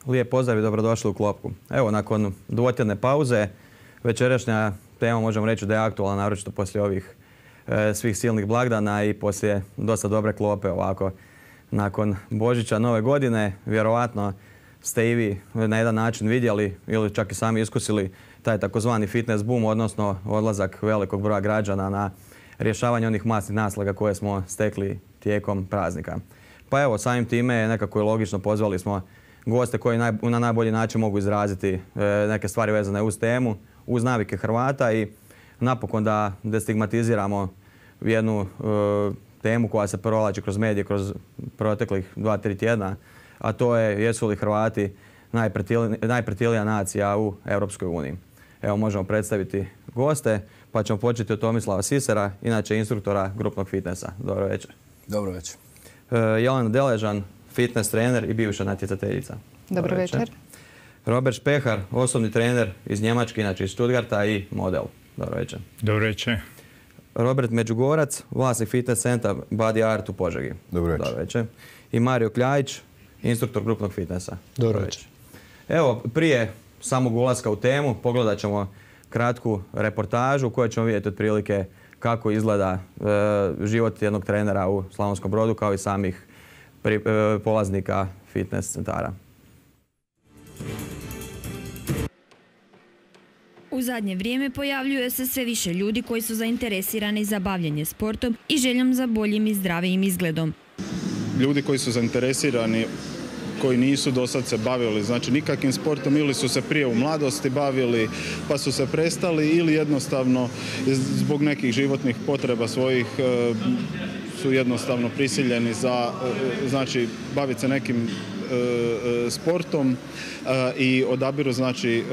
Lijep pozdrav i dobrodošli u Klopku. Evo, nakon dvotjedne pauze, večerašnja tema možemo reći da je aktualna, naročito poslije ovih svih silnih blagdana i poslije dosta dobre klope ovako. Nakon Božića, Nove godine, vjerovatno ste i vi na jedan način vidjeli ili čak i sami iskusili taj takozvani fitness boom, odnosno odlazak velikog broja građana na rješavanje onih masnih naslaga koje smo stekli tijekom praznika. Pa evo, samim time nekako je logično, pozvali smo goste koji na najbolji način mogu izraziti neke stvari vezane uz temu, uz navike Hrvata i napokon da destigmatiziramo jednu temu koja se provlači kroz medije kroz proteklih 2-3 tjedna, a to je jesu li Hrvati najpretilija nacija u Europskoj uniji. Evo, možemo predstaviti goste, pa ćemo početi od Tomislava Sisera, inače instruktora grupnog fitnessa. Dobro večer. Dobro večer. Jelena Deležan, fitness trener i bivša natjecateljica. Dobro večer. Robert Špehar, osobni trener iz Njemačke, inače iz Stuttgarta i model. Dobro večer. Dobro večer. Robert Međugorac, vlasnik fitness centra Body Art u Požegi. Dobro večer. Dobro večer. I Mario Kljajić, instruktor grupnog fitnessa. Dobro večer. Evo, prije samog ulaska u temu pogledat ćemo kratku reportažu u kojoj ćemo vidjeti otprilike kako izgleda život jednog trenera u Slavonskom Brodu kao i samih polaznika fitness centara. U zadnje vrijeme pojavljuje se sve više ljudi koji su zainteresirani za bavljenje sportom i željom za boljim i zdravijim izgledom. Ljudi koji su zainteresirani, koji nisu do sad se bavili znači nikakvim sportom ili su se prije u mladosti bavili pa su se prestali ili jednostavno zbog nekih životnih potreba svojih su jednostavno prisiljeni za znači baviti se nekim sportom i odabiru znači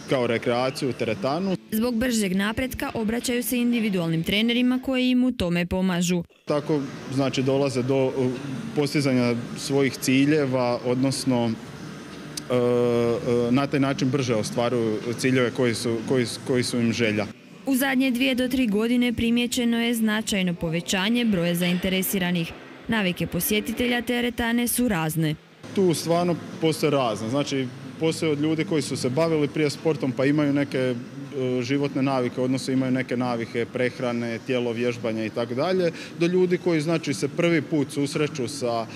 kao rekreaciju, teretanu. Zbog bržeg napretka obraćaju se individualnim trenerima koji im u tome pomažu. Tako znači dolaze do postizanja svojih ciljeva, odnosno na taj način brže ostvaruju ciljeve koji su im želja. U zadnje 2 do 3 godine primijećeno je značajno povećanje broja zainteresiranih. Navike posjetitelja teretane su razne. Tu stvarno postoje razne. Znači, postoje od ljudi koji su se bavili prije sportom pa imaju neke životne navike, odnosno imaju neke navike prehrane, tijelo, vježbanja i tako dalje, do ljudi koji znači se prvi put susreću sa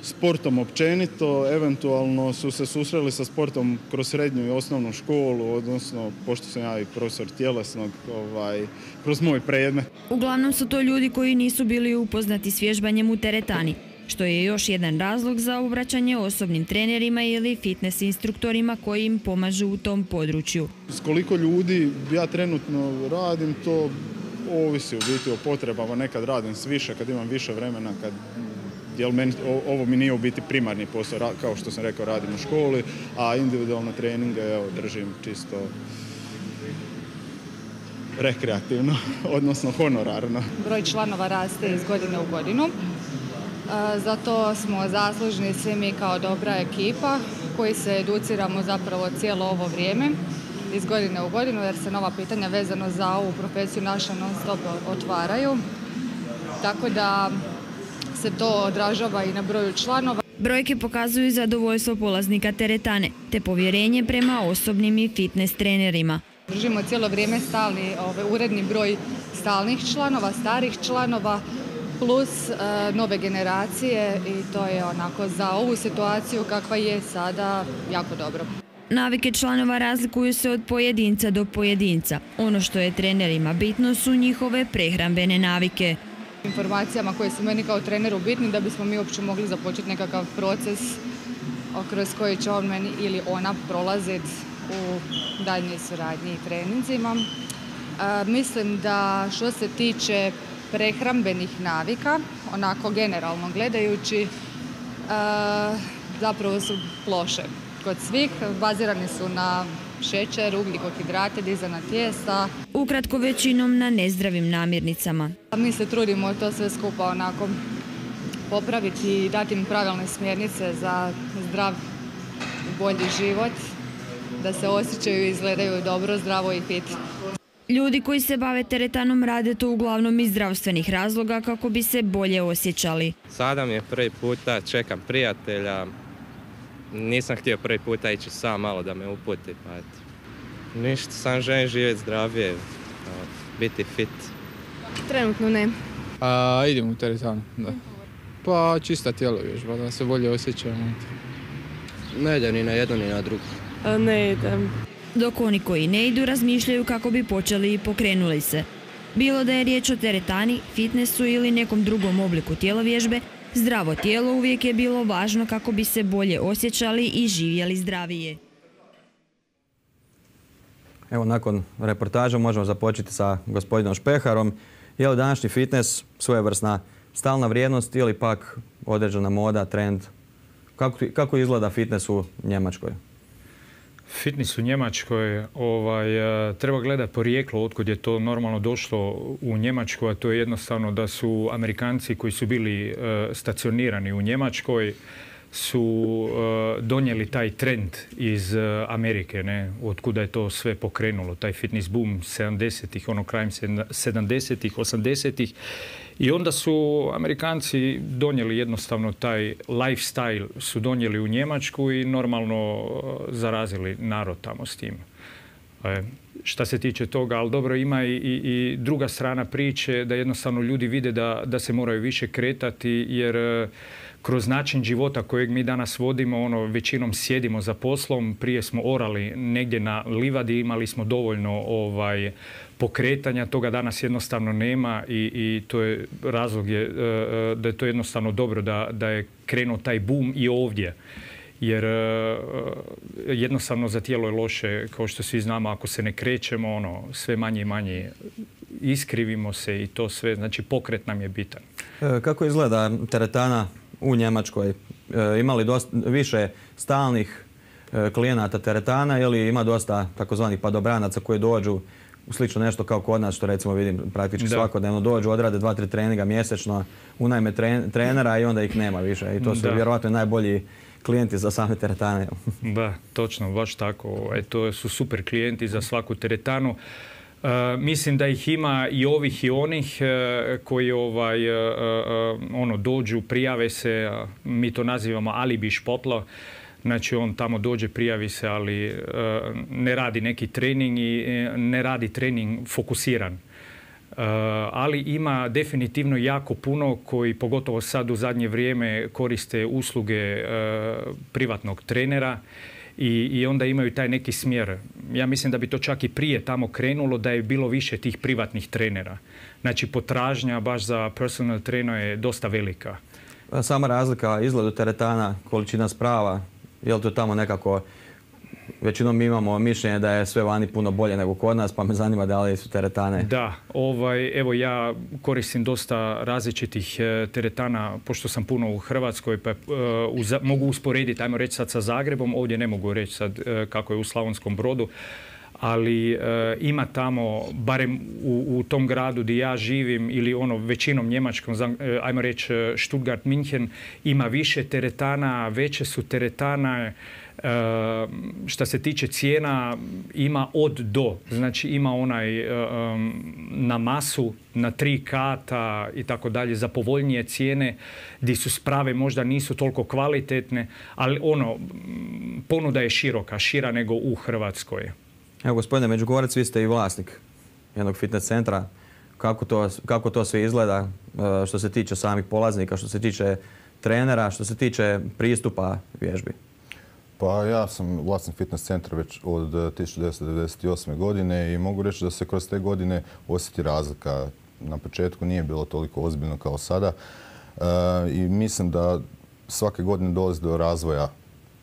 sportom općenito, eventualno su se susreli sa sportom kroz srednju i osnovnu školu, odnosno, pošto sam ja i profesor tjelesnog, kroz moj predmet. Uglavnom su to ljudi koji nisu bili upoznati s vježbanjem u teretani, što je još jedan razlog za obraćanje osobnim trenerima ili fitness instruktorima koji im pomažu u tom području. S koliko ljudi ja trenutno radim, to ovisi u biti o potrebama. Nekad radim s više, kad imam više vremena, ovo mi nije u biti primarni posao, kao što sam rekao, radim u školi, a individualne treninge držim čisto rekreativno, odnosno honorarno. Broj članova raste iz godine u godinu. Zato smo zaslužni svi mi kao dobra ekipa koji se educiramo zapravo cijelo ovo vrijeme iz godine u godinu jer se nova pitanja vezano za ovu profesiju naša non stop otvaraju. Tako da se to odražava i na broju članova. Brojke pokazuju zadovoljstvo polaznika teretane te povjerenje prema osobnim i fitness trenerima. Držimo cijelo vrijeme stalni uredni broj stalnih članova, starih članova, plus nove generacije i to je onako za ovu situaciju kakva je sada jako dobro. Navike članova razlikuju se od pojedinca do pojedinca. Ono što je trenerima bitno su njihove prehrambene navike. Informacijama koje su meni kao treneru bitni da bismo mi uopće mogli započeti nekakav proces kroz koji će on meni ili ona prolaziti u daljnjoj suradnji i treninzima. Mislim da što se tiče prehrambenih navika, onako generalno gledajući, zapravo su loše. Kod svih bazirani su na šećer, ugljikohidrate, dizana tijesta. Ukratko većinom na nezdravim namirnicama. Mi se trudimo to sve skupa onako popraviti i dati im pravilne smjernice za zdrav i bolji život, da se osjećaju i izgledaju dobro, zdravo i fit. Ljudi koji se bave teretanom rade to uglavnom iz zdravstvenih razloga kako bi se bolje osjećali. Sada mi je prvi puta, čekam prijatelja, nisam htio prvi puta ići sam malo da me uputi, pa eto. Ništa, sam želim živjeti zdravije, biti fit. Trenutno ne. Idem u teretanu, da. Pa čista tijelo vježba, da se bolje osjećamo. Ne idem ni na jedno ni na drugo. Ne idem. Dok oni koji ne idu razmišljaju kako bi počeli i pokrenuli se. Bilo da je riječ o teretani, fitnessu ili nekom drugom obliku tjelovježbe, zdravo tijelo uvijek je bilo važno kako bi se bolje osjećali i živjeli zdravije. Evo, nakon reportaža možemo započeti sa gospodinom Špeharom. Je li današnji fitness svojevrsna stalna vrijednost ili pak određena moda, trend? Kako izgleda fitness u Njemačkoj? Fitness u Njemačkoj treba gledati porijeklo otkud je to normalno došlo u Njemačku, a to je jednostavno da su Amerikanci koji su bili stacionirani u Njemačkoj su donijeli taj trend iz Amerike, ne? Otkuda je to sve pokrenulo, taj fitness boom 70-ih, krajem 70-ih, 80-ih. I onda su Amerikanci donijeli jednostavno taj lifestyle, su donijeli u Njemačku i normalno zarazili narod tamo s tim. Šta se tiče toga, ali dobro, ima i druga strana priče da jednostavno ljudi vide da se moraju više kretati jer kroz način života kojeg mi danas vodimo, većinom sjedimo za poslom, prije smo orali negdje na livadi, imali smo dovoljno pokretanja, toga danas jednostavno nema i to je razlog da je to jednostavno dobro da je krenuo taj boom i ovdje. Jer jednostavno za tijelo je loše, kao što svi znamo, ako se ne krećemo, sve manje i manje iskrivimo se i to sve, znači pokret nam je bitan. Kako izgleda teretana u Njemačkoj? Ima li više stalnih klijenata teretana ili ima dosta takozvanih padobranaca koji dođu slično nešto kao kod nas, što recimo vidim praktički svakodnevno dođu, odrade 2-3 treninga mjesečno, unajme trenera i onda ih nema više. I to su vjerojatno najbolji klijenti za same teretane. Da, točno, baš tako. To su super klijenti za svaku teretanu. Mislim da ih ima i ovih i onih koji dođu, prijave se, mi to nazivamo alibi špotlo. Znači on tamo dođe, prijavi se, ali ne radi neki trening i ne radi trening fokusiran. Ali ima definitivno jako puno koji, pogotovo sad u zadnje vrijeme, koriste usluge privatnog trenera i onda imaju taj neki smjer. Ja mislim da bi to čak i prije tamo krenulo da je bilo više tih privatnih trenera. Znači potražnja baš za personal trainer je dosta velika. Sama razlika izgledu teretana, količina sprava, je li to tamo nekako, većinom mi imamo mišljenje da je sve vani puno bolje nego kod nas, pa me zanima da li su teretane. Da, evo ja koristim dosta različitih teretana, pošto sam puno u Hrvatskoj, pa mogu usporediti, ajmo reći sad sa Zagrebom, ovdje ne mogu reći sad kako je u Slavonskom Brodu, ali ima tamo, barem u tom gradu gdje ja živim ili većinom njemačkom, ajmo reći Stuttgart, München, ima više teretana, veće su teretana. Šta se tiče cijena, ima od do. Znači ima onaj na masu, na 3 kata i tako dalje, za povoljnije cijene, gdje su sprave možda nisu toliko kvalitetne, ali ponuda je šira nego u Hrvatskoj. Evo, gospodine Međugorac, vi ste i vlasnik jednog fitness centra. Kako to sve izgleda što se tiče samih polaznika, što se tiče trenera, što se tiče pristupa vježbi? Pa ja sam vlasnik fitness centra već od 1998. godine i mogu reći da se kroz te godine osjeti razlika. Na početku nije bilo toliko ozbiljno kao sada i mislim da svake godine dolazi do razvoja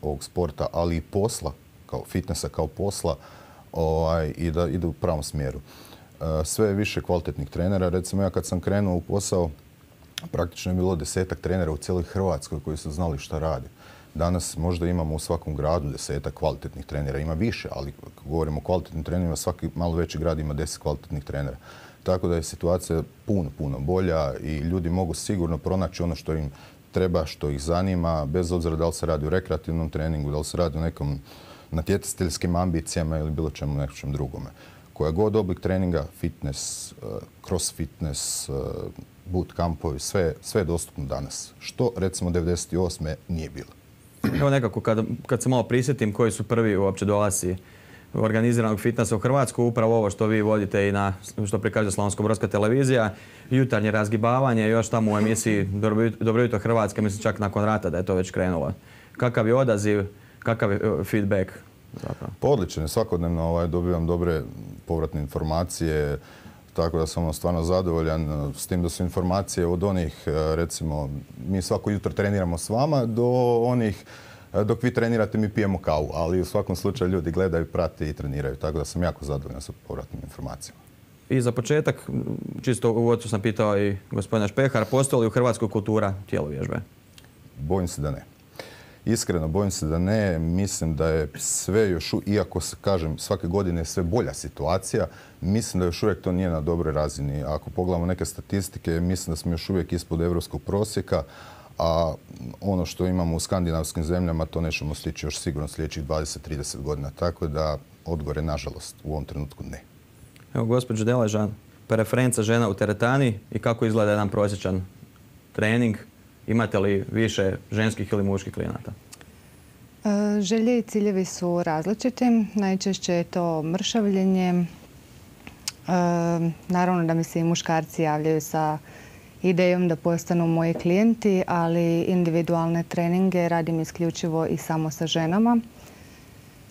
ovog sporta, ali i posla, kao fitnessa kao posla, i da ide u pravom smjeru. Sve je više kvalitetnih trenera. Recimo ja kad sam krenuo u posao, praktično je bilo 10-ak trenera u cijeloj Hrvatskoj koji su znali šta radi. Danas možda imamo u svakom gradu 10-ak kvalitetnih trenera. Ima više, ali ako govorimo o kvalitetnim trenerima, svaki malo veći grad ima 10 kvalitetnih trenera. Tako da je situacija puno bolja i ljudi mogu sigurno pronaći ono što im treba, što ih zanima, bez obzira da li se radi o rekreativnom treningu, da li se radi o nekom natjecateljskim ambicijama ili bilo čemu nečem drugome. Koja god oblik treninga, fitness, cross fitness, boot campovi, sve je dostupno danas. Što recimo 1998. nije bilo. Evo nekako kad se malo prisjetim koji su prvi uopće dolasci organiziranog fitnessa u Hrvatsku, upravo ovo što vi vodite i što prikazuje Slavonsko-brodska televizija, jutarnje razgibavanje, još tamo u emisiji Dobro jutro Hrvatska, mislim čak nakon rata da je to već krenulo. Kakav je odaziv, kakav je feedback zapravo? Pa odličan je, svakodnevno dobivam dobre povratne informacije, tako da sam stvarno zadovoljan s tim da su informacije od onih, recimo, mi svako jutro treniramo s vama, do onih dok vi trenirate mi pijemo kavu, ali u svakom slučaju ljudi gledaju, prate i treniraju, tako da sam jako zadovoljan sa povratnim informacijama. I za početak, čisto u uvodu sam pitao i gospodina Špehara, postoji li u Hrvatskoj kultura tjelovježbe? Bojim se da ne. Iskreno, bojim se da ne. Mislim da je sve još, iako se kažem svake godine sve bolja situacija, mislim da još uvijek to nije na dobroj razini. Ako pogledamo neke statistike, mislim da smo još uvijek ispod europskog prosjeka, a ono što imamo u skandinavskim zemljama to nećemo stići još sigurno sljedećih 20-30 godina. Tako da odgovor je nažalost u ovom trenutku ne. Evo, gospođo Deležan, preferenca žena u teretani i kako izgleda jedan prosječan trening? Imate li više ženskih ili muških klijenata? Želje i ciljevi su različiti. Najčešće je to mršavljenje. Naravno da mi se i muškarci javljaju sa idejom da postanu moji klijenti, ali individualne treninge radim isključivo i samo sa ženama.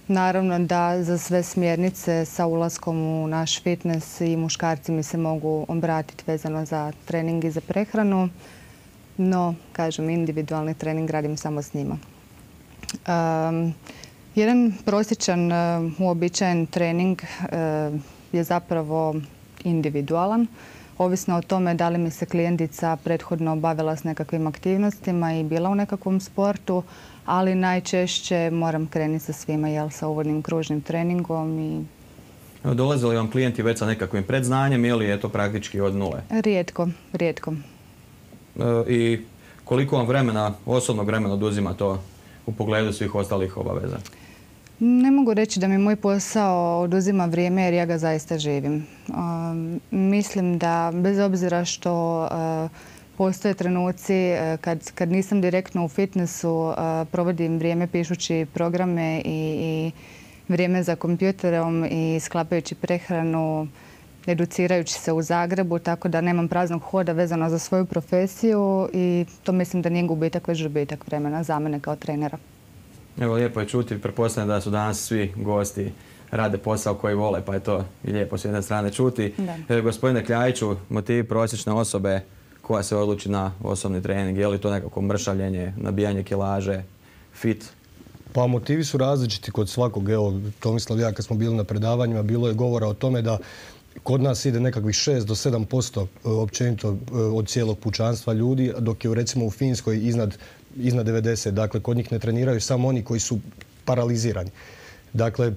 Naravno da za sve smjernice sa ulaskom u naš fitness i muškarci mi se mogu obratiti vezano za trening i za prehranu. No, kažem, individualni trening radim samo s njima. Jedan prosječan, uobičajen trening je zapravo individualan. Ovisno o tome da li mi se klijentica prethodno bavila s nekakvim aktivnostima i bila u nekakvom sportu, ali najčešće moram krenuti sa svima, sa uvodnim kružnim treningom. Dolaze li vam klijenti već sa nekakvim predznanjem ili je to praktički od nule? Rijetko, rijetko. I koliko vam vremena, osobnog vremena oduzima to u pogledu svih ostalih obaveza? Ne mogu reći da mi moj posao oduzima vrijeme jer ja ga zaista živim. Mislim da bez obzira što postoje trenuci kad nisam direktno u fitnessu, provodim vrijeme pišući programe i vrijeme za kompjuterom i sklapajući prehranu, educirajući se u Zagrebu, tako da nemam praznog hoda vezano za svoju profesiju i to mislim da nije gubitak, već dobitak vremena za mene kao trenera. Evo, lijepo je čuti, pretpostavljam da su danas svi gosti rade posao koji vole, pa je to i lijepo s jedne strane čuti. Gospodine Kljajiću, motivi prosječne osobe koja se odluči na osobni trening, je li to nekako mršavljenje, nabijanje kilaže, fit? Pa motivi su različiti kod svakog. Evo, Tomislav i ja kad smo bili na predavanjima, bilo je govora o tome da kod nas ide nekakvih 6 do 7% općenito od cijelog pučanstva ljudi, dok je recimo u Finskoj iznad 90. Dakle, kod njih ne treniraju samo oni koji su paralizirani. Dakle,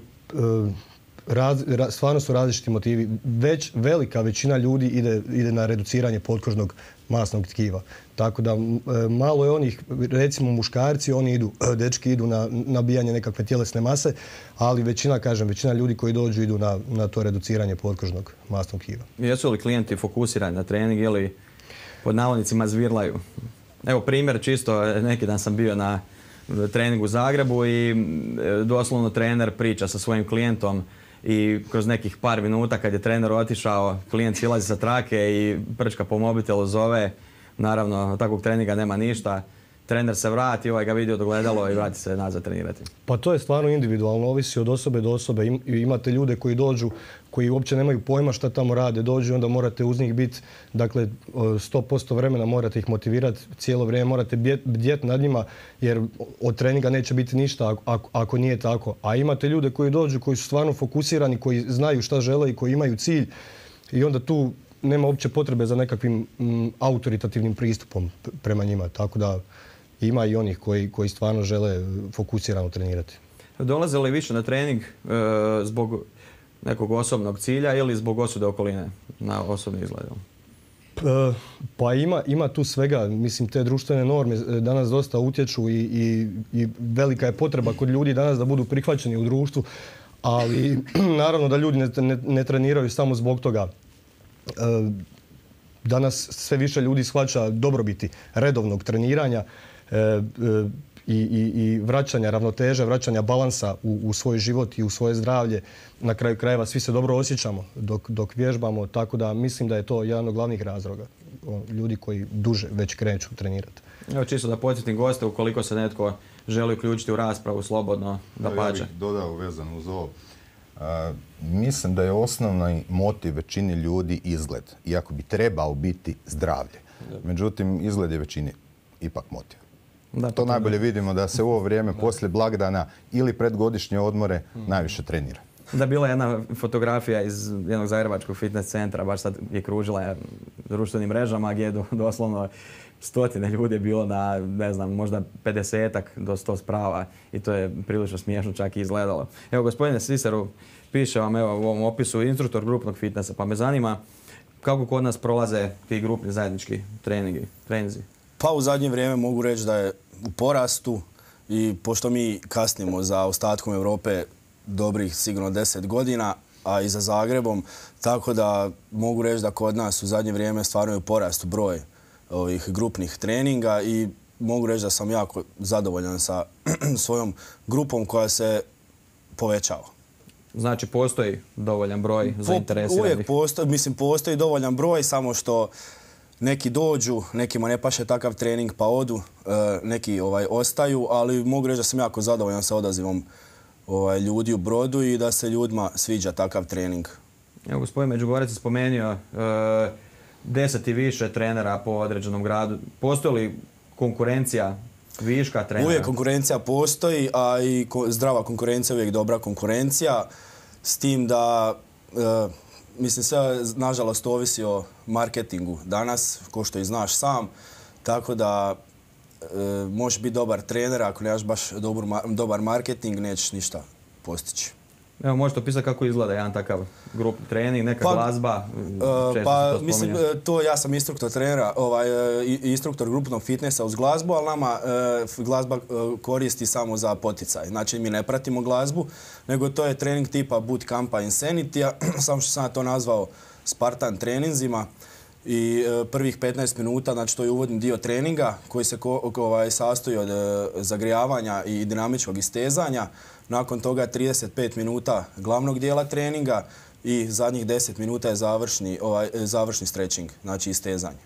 stvarno su različiti motivi. Već velika većina ljudi ide na reduciranje potkožnog masnog tkiva. Tako da malo je onih, recimo muškarci, dečki idu na nabijanje nekakve tjelesne mase, ali većina ljudi koji dođu idu na to reduciranje potkožnog masnog tkiva. Jesu li klijenti fokusirani na trening ili pod navodnicima zvirlaju? Evo primjer, čisto neki dan sam bio na treningu u Zagrebu i doslovno trener priča sa svojim klijentom i kroz nekih par minuta kad je trener otišao, klijent silazi sa trake i prčka po mobitelu, zove. Naravno, takvog treninga nema ništa. Trener se vrati, ga vidi od ogledalo i vrati se nazad trenirati. Pa to je stvarno individualno, ovisi od osobe do osobe. Imate ljude koji dođu, koji uopće nemaju pojma šta tamo rade, dođu i onda morate uz njih biti, dakle 100% vremena morate ih motivirati, cijelo vrijeme morate bdjeti nad njima jer od treninga neće biti ništa ako nije tako. A imate ljude koji dođu, koji su stvarno fokusirani, koji znaju šta žele i koji imaju cilj i onda tu nema uopće potrebe za nekakvim autoritativnim pristupom prema njima. Tako da ima i onih koji stvarno žele fokusirano trenirati. Dolaze li više na trening zbog nekog osobnog cilja ili zbog osude okoline na osobni izgled? Pa ima tu svega. Mislim, te društvene norme danas dosta utječu i velika je potreba kod ljudi danas da budu prihvaćeni u društvu, ali naravno da ljudi ne treniraju samo zbog toga. Danas sve više ljudi shvaća dobrobiti redovnog treniranja i vraćanja ravnoteže, vraćanja balansa u svoj život i u svoje zdravlje. Na kraju krajeva svi se dobro osjećamo dok vježbamo, tako da mislim da je to jedan od glavnih razloga. Ljudi koji duže već kreću trenirati. Evo čisto da podsjetim goste, ukoliko se netko želi uključiti u raspravu slobodno, da pače. Ja bih dodao vezano uz ovo. Mislim da je osnovni motiv većini ljudi izgled, iako bi trebao biti zdravlje. Međutim, izgled je većini ipak motiv. To najbolje vidimo da se u ovo vrijeme poslije blagdana ili predgodišnje odmore najviše trenira. Da, bila je jedna fotografija iz jednog zagrebačkog fitness centra, baš sad je kružila društvenim mrežama gdje je doslovno stotine ljudi je bilo na, ne znam, možda 50-ak do 100 sprava i to je prilično smiješno čak i izgledalo. Evo, gospodine Sisaru, piše vam evo, u ovom opisu instruktor grupnog fitnessa, pa me zanima kako kod nas prolaze ti grupni zajednički treninzi? Pa u zadnje vrijeme mogu reći da je u porastu i pošto mi kasnimo za ostatkom Europe dobrih sigurno 10 godina, a i za Zagrebom, tako da mogu reći da kod nas u zadnje vrijeme stvarno je u porastu broj ovih grupnih treninga i mogu reći da sam jako zadovoljan sa svojom grupom koja se povećava. Znači postoji dovoljan broj zainteresiranih? Uvijek postoji dovoljan broj, samo što neki dođu, nekima ne paše takav trening pa odu, neki ostaju, ali mogu reći da sam jako zadovoljan sa odazivom ljudi u Brodu i da se ljudima sviđa takav trening. Evo, gospodin Međugorec je spomenuo 10 i više trenera po određenom gradu. Postoji li konkurencija viška trenera? Uvijek konkurencija postoji, a i zdrava konkurencija je uvijek dobra konkurencija. S tim da, mislim, sve nažalost ovisi o marketingu danas, ko što i znaš sam. Tako da možeš biti dobar trener, ako nemaš baš dobar marketing, nećeš ništa postići. Evo, možete opisati kako izgleda jedan takav grupni trening, neka glazba? Mislim, ja sam instruktor trenera, instruktor grupnog fitnessa uz glazbu, ali nama glazba koristi samo za poticaj. Znači, mi ne pratimo glazbu, nego to je trening tipa bootcampa Insanity-a, samo što sam ja to nazvao Spartan treninzima. I prvih 15 minuta, znači to je uvodni dio treninga koji se sastoji od zagrijavanja i dinamičkog istezanja. Nakon toga 35 minuta glavnog dijela treninga i zadnjih 10 minuta je završni stretching, znači istezanje.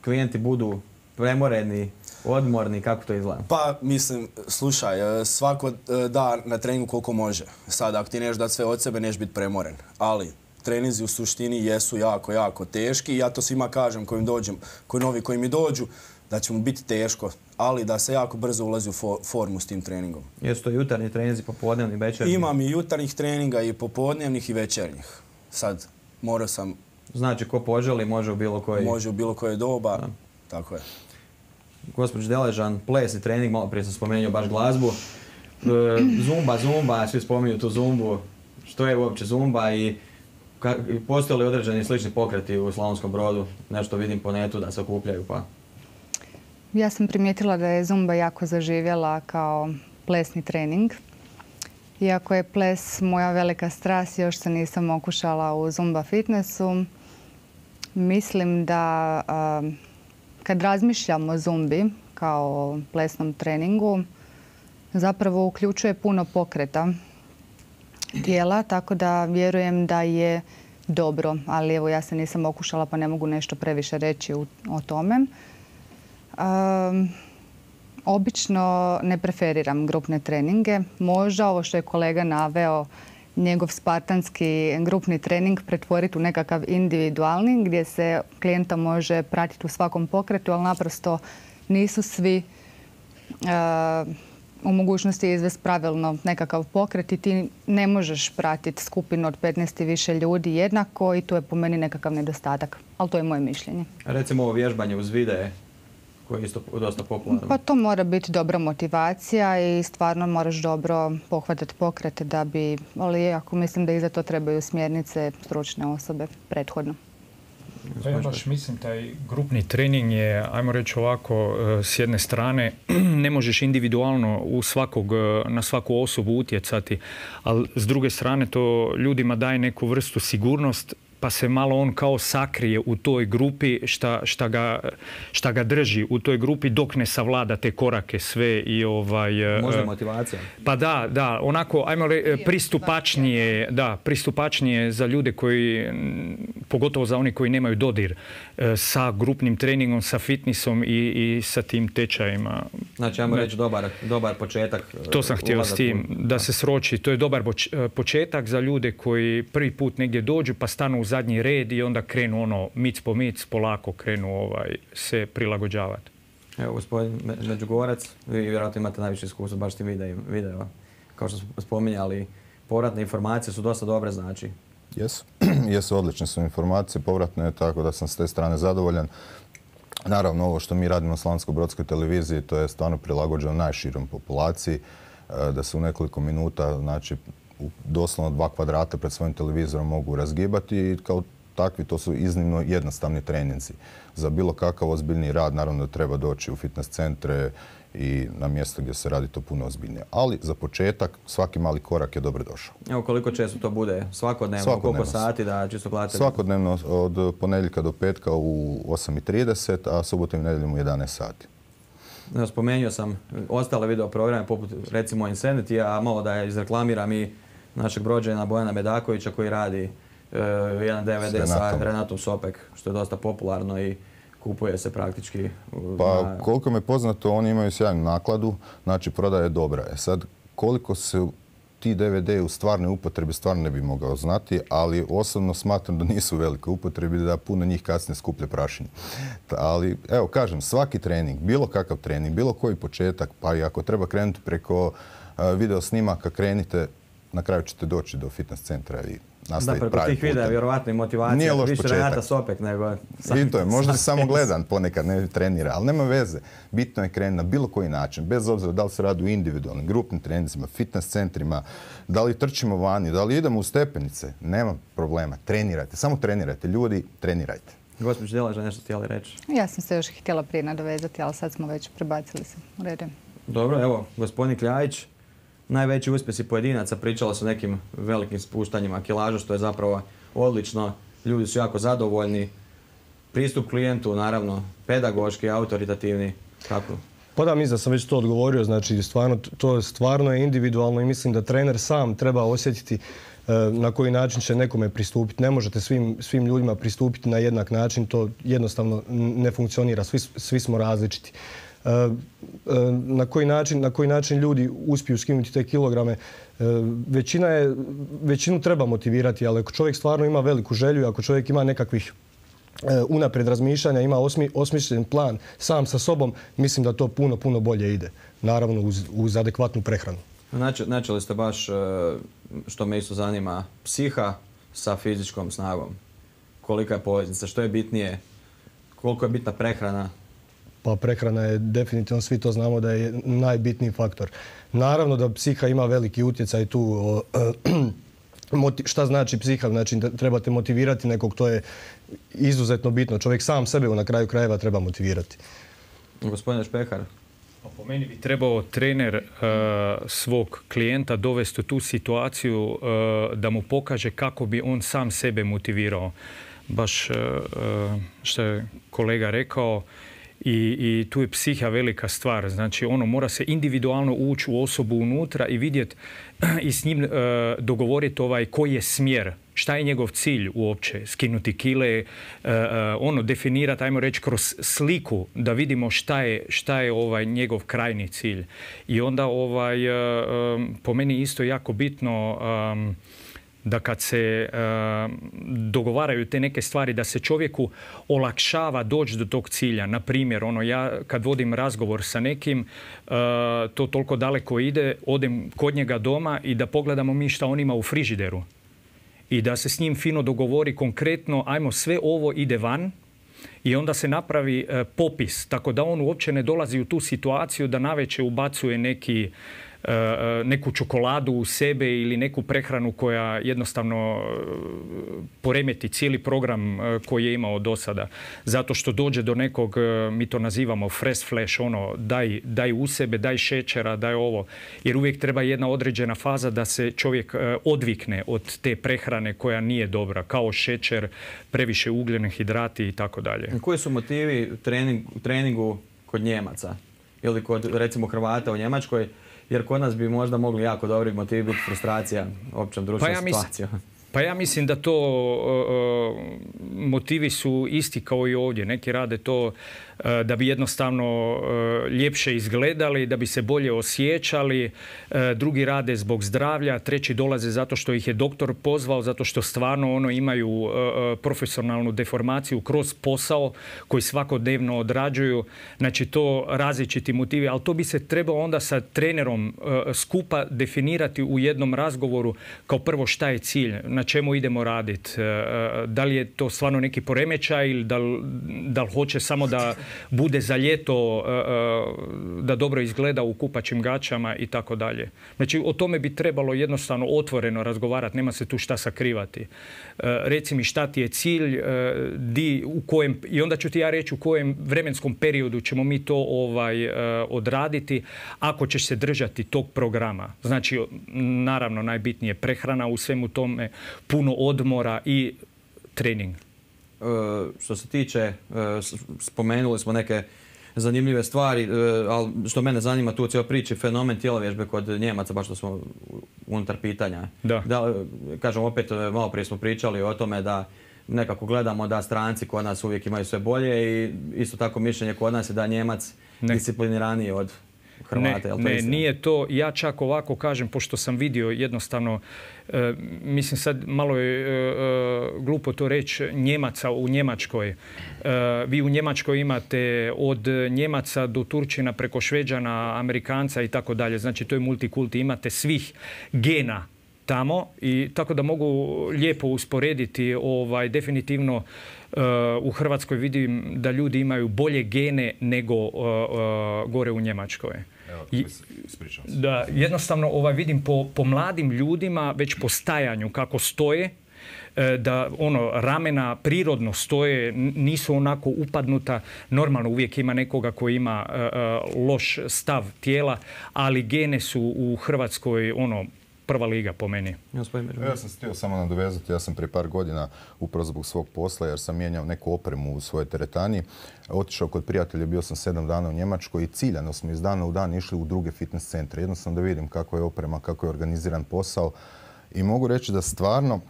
Klijenti budu premoreni, odmorni, kako to izgleda? Pa, mislim, slušaj, svako da na treningu koliko može. Sad, ako ti neš dati sve od sebe, neš biti premoren. Ali treninzi u suštini jesu jako, jako teški i ja to svima kažem koji mi dođu, da će mu biti teško, ali da se jako brzo ulazi u formu s tim treningom. Jesu to jutarnji treninzi, popodnevni, večernji? Imam i jutarnjih treninga i popodnevnih i večernjih. Sad, morao sam... Znači, ko poželi, može u bilo koji... Može u bilo koje doba, da. Tako je. Gospođo Deležan, plesni trening, malo prije sam spomenuo baš glazbu. Zumba, svi spominju tu zumbu. Što je uopće zumba i postoje li određeni slični pokreti u Slavonskom Brodu? Nešto vidim po netu da se okupljaju, pa... Ja sam primijetila da je zumba jako zaživjela kao plesni trening. Iako je ples moja velika strast, još se nisam okušala u zumba fitnessu. Mislim da kad razmišljamo o zumbi kao plesnom treningu, zapravo uključuje puno pokreta tijela, tako da vjerujem da je dobro, ali evo ja se nisam okušala pa ne mogu nešto previše reći o tome. Obično ne preferiram grupne treninge. Možda ovo što je kolega naveo, njegov spartanski grupni trening pretvoriti u nekakav individualni gdje se klijenta može pratiti u svakom pokretu, ali naprosto nisu svi u mogućnosti izvesti pravilno nekakav pokret i ti ne možeš pratiti skupinu od 15 i više ljudi jednako i to je po meni nekakav nedostatak, ali to je moje mišljenje. Recimo ovo vježbanje uz videe koji je isto dosta popularno. Pa to mora biti dobra motivacija i stvarno moraš dobro pohvatati pokrete da bi, ali ako mislim da i za to trebaju smjernice stručne osobe prethodno. Ja baš mislim taj grupni trening je, ajmo reći ovako, s jedne strane ne možeš individualno na svaku osobu utjecati, ali s druge strane to ljudima daje neku vrstu sigurnost pa se malo on kao sakrije u toj grupi šta ga drži u toj grupi dok ne savlada te korake sve i možda motivacija. Pa da, onako, ajmo pristupačnije za ljude koji, pogotovo za oni koji nemaju dodir sa grupnim treningom, sa fitnessom i sa tim tečajima. Znači, ajmo reći dobar početak. To sam htio s tim, da se sroči. To je dobar početak za ljude koji prvi put negdje dođu pa stanu u zadnji red i onda krenu mic po mic, polako krenu se prilagođavati. Evo, gospodin Međugorac, vi vjerojatno imate najviše iskustva baš tim video. Kao što smo spominjali, povratne informacije su dosta dobre, znači. Jesu, odlične su informacije, povratne, tako da sam s te strane zadovoljan. Naravno, ovo što mi radimo na Slavonsko-brodskoj televiziji, to je stvarno prilagođeno najširom populaciji, da se u nekoliko minuta, znači, doslovno 2 kvadrata pred svojim televizorom mogu razgibati i kao takvi to su iznimno jednostavni treninzi. Za bilo kakav ozbiljni rad naravno da treba doći u fitness centre i na mjesto gdje se radi to puno ozbiljnije. Ali za početak svaki mali korak je dobro došao. Evo, koliko često to bude? Svakodnevno? Koliko sati da čisto gledate? Svakodnevno od ponedjeljka do petka u 8:30, a subotom i nedjeljom u 11 sati. Spomenuo sam ostale video programe poput recimo Insanity, a malo da je izreklamiram i našeg Brođana Bojana Medakovića koji radi jedan DVD sa Renatom Sopek, što je dosta popularno i kupuje se praktički. Pa koliko me poznato, oni imaju sjajnu nakladu, znači prodaja je dobra. Sad, koliko se ti DVD u stvarnoj upotrebi stvarno ne bi mogao znati, ali osobno smatram da nisu u velikoj upotrebi, da puno njih kasnije skuplje prašinje. Ali, evo, kažem, svaki trening, bilo kakav trening, bilo koji početak, pa i ako treba krenuti preko video snimaka, krenite, na kraju ćete doći do fitness centra i nastaviti pravi putem. Preko tih videa vjerovatno i motivacija. Nije loš više početak. Renata Sopek nego... I to je, možda se samo gledan ponekad, ne trenira, ali nema veze. Bitno je krenuti na bilo koji način, bez obzira da li se radi u individualnim, grupnim treninzima, fitness centrima, da li trčimo vani, da li idemo u stepenice, nema problema. Trenirajte, samo trenirajte. Ljudi, trenirajte. Gospođo Djelaža, nešto htjeli reći? Ja sam se još htjela prije nadovezati, ali sad smo već prebacili se u redu. Dobro, evo, gospodin Kljajić, najveći uspjesi pojedinaca, pričalo se o nekim velikim spuštanjima kilaža, što je zapravo odlično. Ljudi su jako zadovoljni. Pristup klijentu, naravno, pedagoški, autoritativni. Kako? Pa da, mislim da sam već to odgovorio. Znači, to stvarno je individualno i mislim da trener sam treba osjetiti na koji način će nekome pristupiti. Ne možete svim ljudima pristupiti na jednak način. To jednostavno ne funkcionira. Svi smo različiti. Na koji način ljudi uspiju skinuti te kilograme. Većinu treba motivirati, ali ako čovjek stvarno ima veliku želju, ako čovjek ima nekakvih unaprijed razmišljanja, ima osmišljen plan sam sa sobom, mislim da to puno bolje ide. Naravno uz adekvatnu prehranu. Načeli ste baš, što me isto zanima, psiha sa fizičkom snagom. Kolika je poveznica, što je bitnije, koliko je bitna prehrana? Pa prehrana je definitivno, svi to znamo da je najbitniji faktor. Naravno da psiha ima veliki utjecaj tu. Šta znači psiha? Znači trebate motivirati nekog, to je izuzetno bitno. Čovjek sam sebe na kraju krajeva treba motivirati. Gospodine Špehar? Po meni bi trebao trener svog klijenta dovesti u tu situaciju da mu pokaže kako bi on sam sebe motivirao. Baš što je kolega rekao, i tu je psiha velika stvar. Znači, mora se individualno ući u osobu unutra i vidjeti i s njim dogovoriti koji je smjer, šta je njegov cilj uopće, skinuti kile, definirati, ajmo reći, kroz sliku da vidimo šta je njegov krajni cilj. I onda po meni isto jako bitno da kad se dogovaraju te neke stvari, da se čovjeku olakšava doći do tog cilja. Na primjer, ja kad vodim razgovor sa nekim, to toliko daleko ide, odem kod njega doma i da pogledamo mi šta on ima u frižideru. I da se s njim fino dogovori konkretno, ajmo sve ovo ide van, i onda se napravi popis, tako da on uopće ne dolazi u tu situaciju da navečer ubacuje neki neku čokoladu u sebe ili neku prehranu koja jednostavno poremeti cijeli program koji je imao do sada. Zato što dođe do nekog, mi to nazivamo fresh flash, ono daj u sebe, daj šećera, daj ovo. Jer uvijek treba jedna određena faza da se čovjek odvikne od te prehrane koja nije dobra, kao šećer, previše ugljenih hidrati i tako dalje. Koji su motivi treningu kod Njemaca ili kod recimo Hrvata u Njemačkoj? Jer kod nas bi možda mogli jako dobri motivi biti frustracija općom društvenom situacijom. Pa ja mislim da to motivi su isti kao i ovdje. Neki rade to da bi jednostavno ljepše izgledali, da bi se bolje osjećali, drugi rade zbog zdravlja, treći dolaze zato što ih je doktor pozvao, zato što stvarno imaju profesionalnu deformaciju kroz posao koji svakodnevno odrađuju. Znači to različiti motivi, ali to bi se trebalo onda sa trenerom skupa definirati u jednom razgovoru kao prvo šta je cilj, na čemu idemo raditi. Da li je to stvarno neki poremećaj ili da li hoće samo da bude za ljeto, da dobro izgleda u kupaćim gaćama i tako dalje. Znači, o tome bi trebalo jednostavno otvoreno razgovarati, nema se tu šta sakrivati. Reci mi šta ti je cilj, i onda ću ti ja reći u kojem vremenskom periodu ćemo mi to odraditi ako ćeš se držati tog programa. Znači, naravno, najbitnije prehrana u svemu tome, puno odmora i trening. Što se tiče, spomenuli smo neke zanimljive stvari, ali što mene zanima tu u cijeloj priči, fenomen tjelovježbe kod Njemaca, baš što smo unutar pitanja. Kažem, opet, malo prije smo pričali o tome da nekako gledamo da stranci kod nas uvijek imaju sve bolje i isto tako mišljenje kod nas je da je Njemac discipliniraniji od Hrvata. Ne, nije to. Ja čak ovako kažem, pošto sam vidio jednostavno, mislim sad malo je glupo to reći, Njemaca u Njemačkoj. Vi u Njemačkoj imate od Njemaca do Turčina preko Šveđana, Amerikanca i tako dalje. Znači to je multikulti. Imate svih gena tamo i tako da mogu lijepo usporediti. Definitivno u Hrvatskoj vidim da ljudi imaju bolje gene nego gore u Njemačkoj. Ispričavam se. Da, jednostavno vidim po mladim ljudima već po stajanju kako stoje, da ramena prirodno stoje, nisu onako upadnuta. Normalno uvijek ima nekoga koji ima loš stav tijela, ali gene su u Hrvatskoj prva liga po meni. Ja sam se htio samo nadovezati, ja sam prije par godina upravo zbog svog posla, jer sam mijenjao neku opremu u svojoj teretani, otišao kod prijatelja, bio sam 7 dana u Njemačkoj i ciljano smo iz dana u dan išli u druge fitness centre. Jednostavno da vidim kako je oprema, kako je organiziran posao i mogu reći da stvarno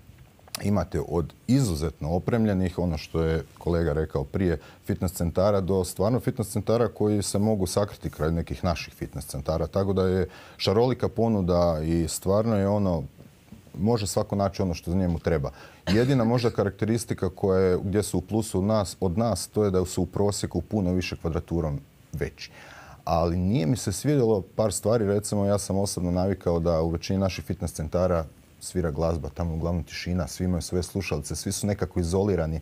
imate od izuzetno opremljenih, ono što je kolega rekao prije, fitness centara do stvarno fitness centara koji se mogu sakriti kraj nekih naših fitness centara. Tako da je šarolika ponuda i stvarno je može svako naći ono što njemu treba. Jedina možda karakteristika gdje su u plusu od nas, to je da su u prosjeku puno više kvadraturom veći. Ali nije mi se svidjelo par stvari, recimo ja sam osobno navikao da u većini naših fitness centara svira glazba, tamo uglavnom tišina, svi imaju svoje slušalice, svi su nekako izolirani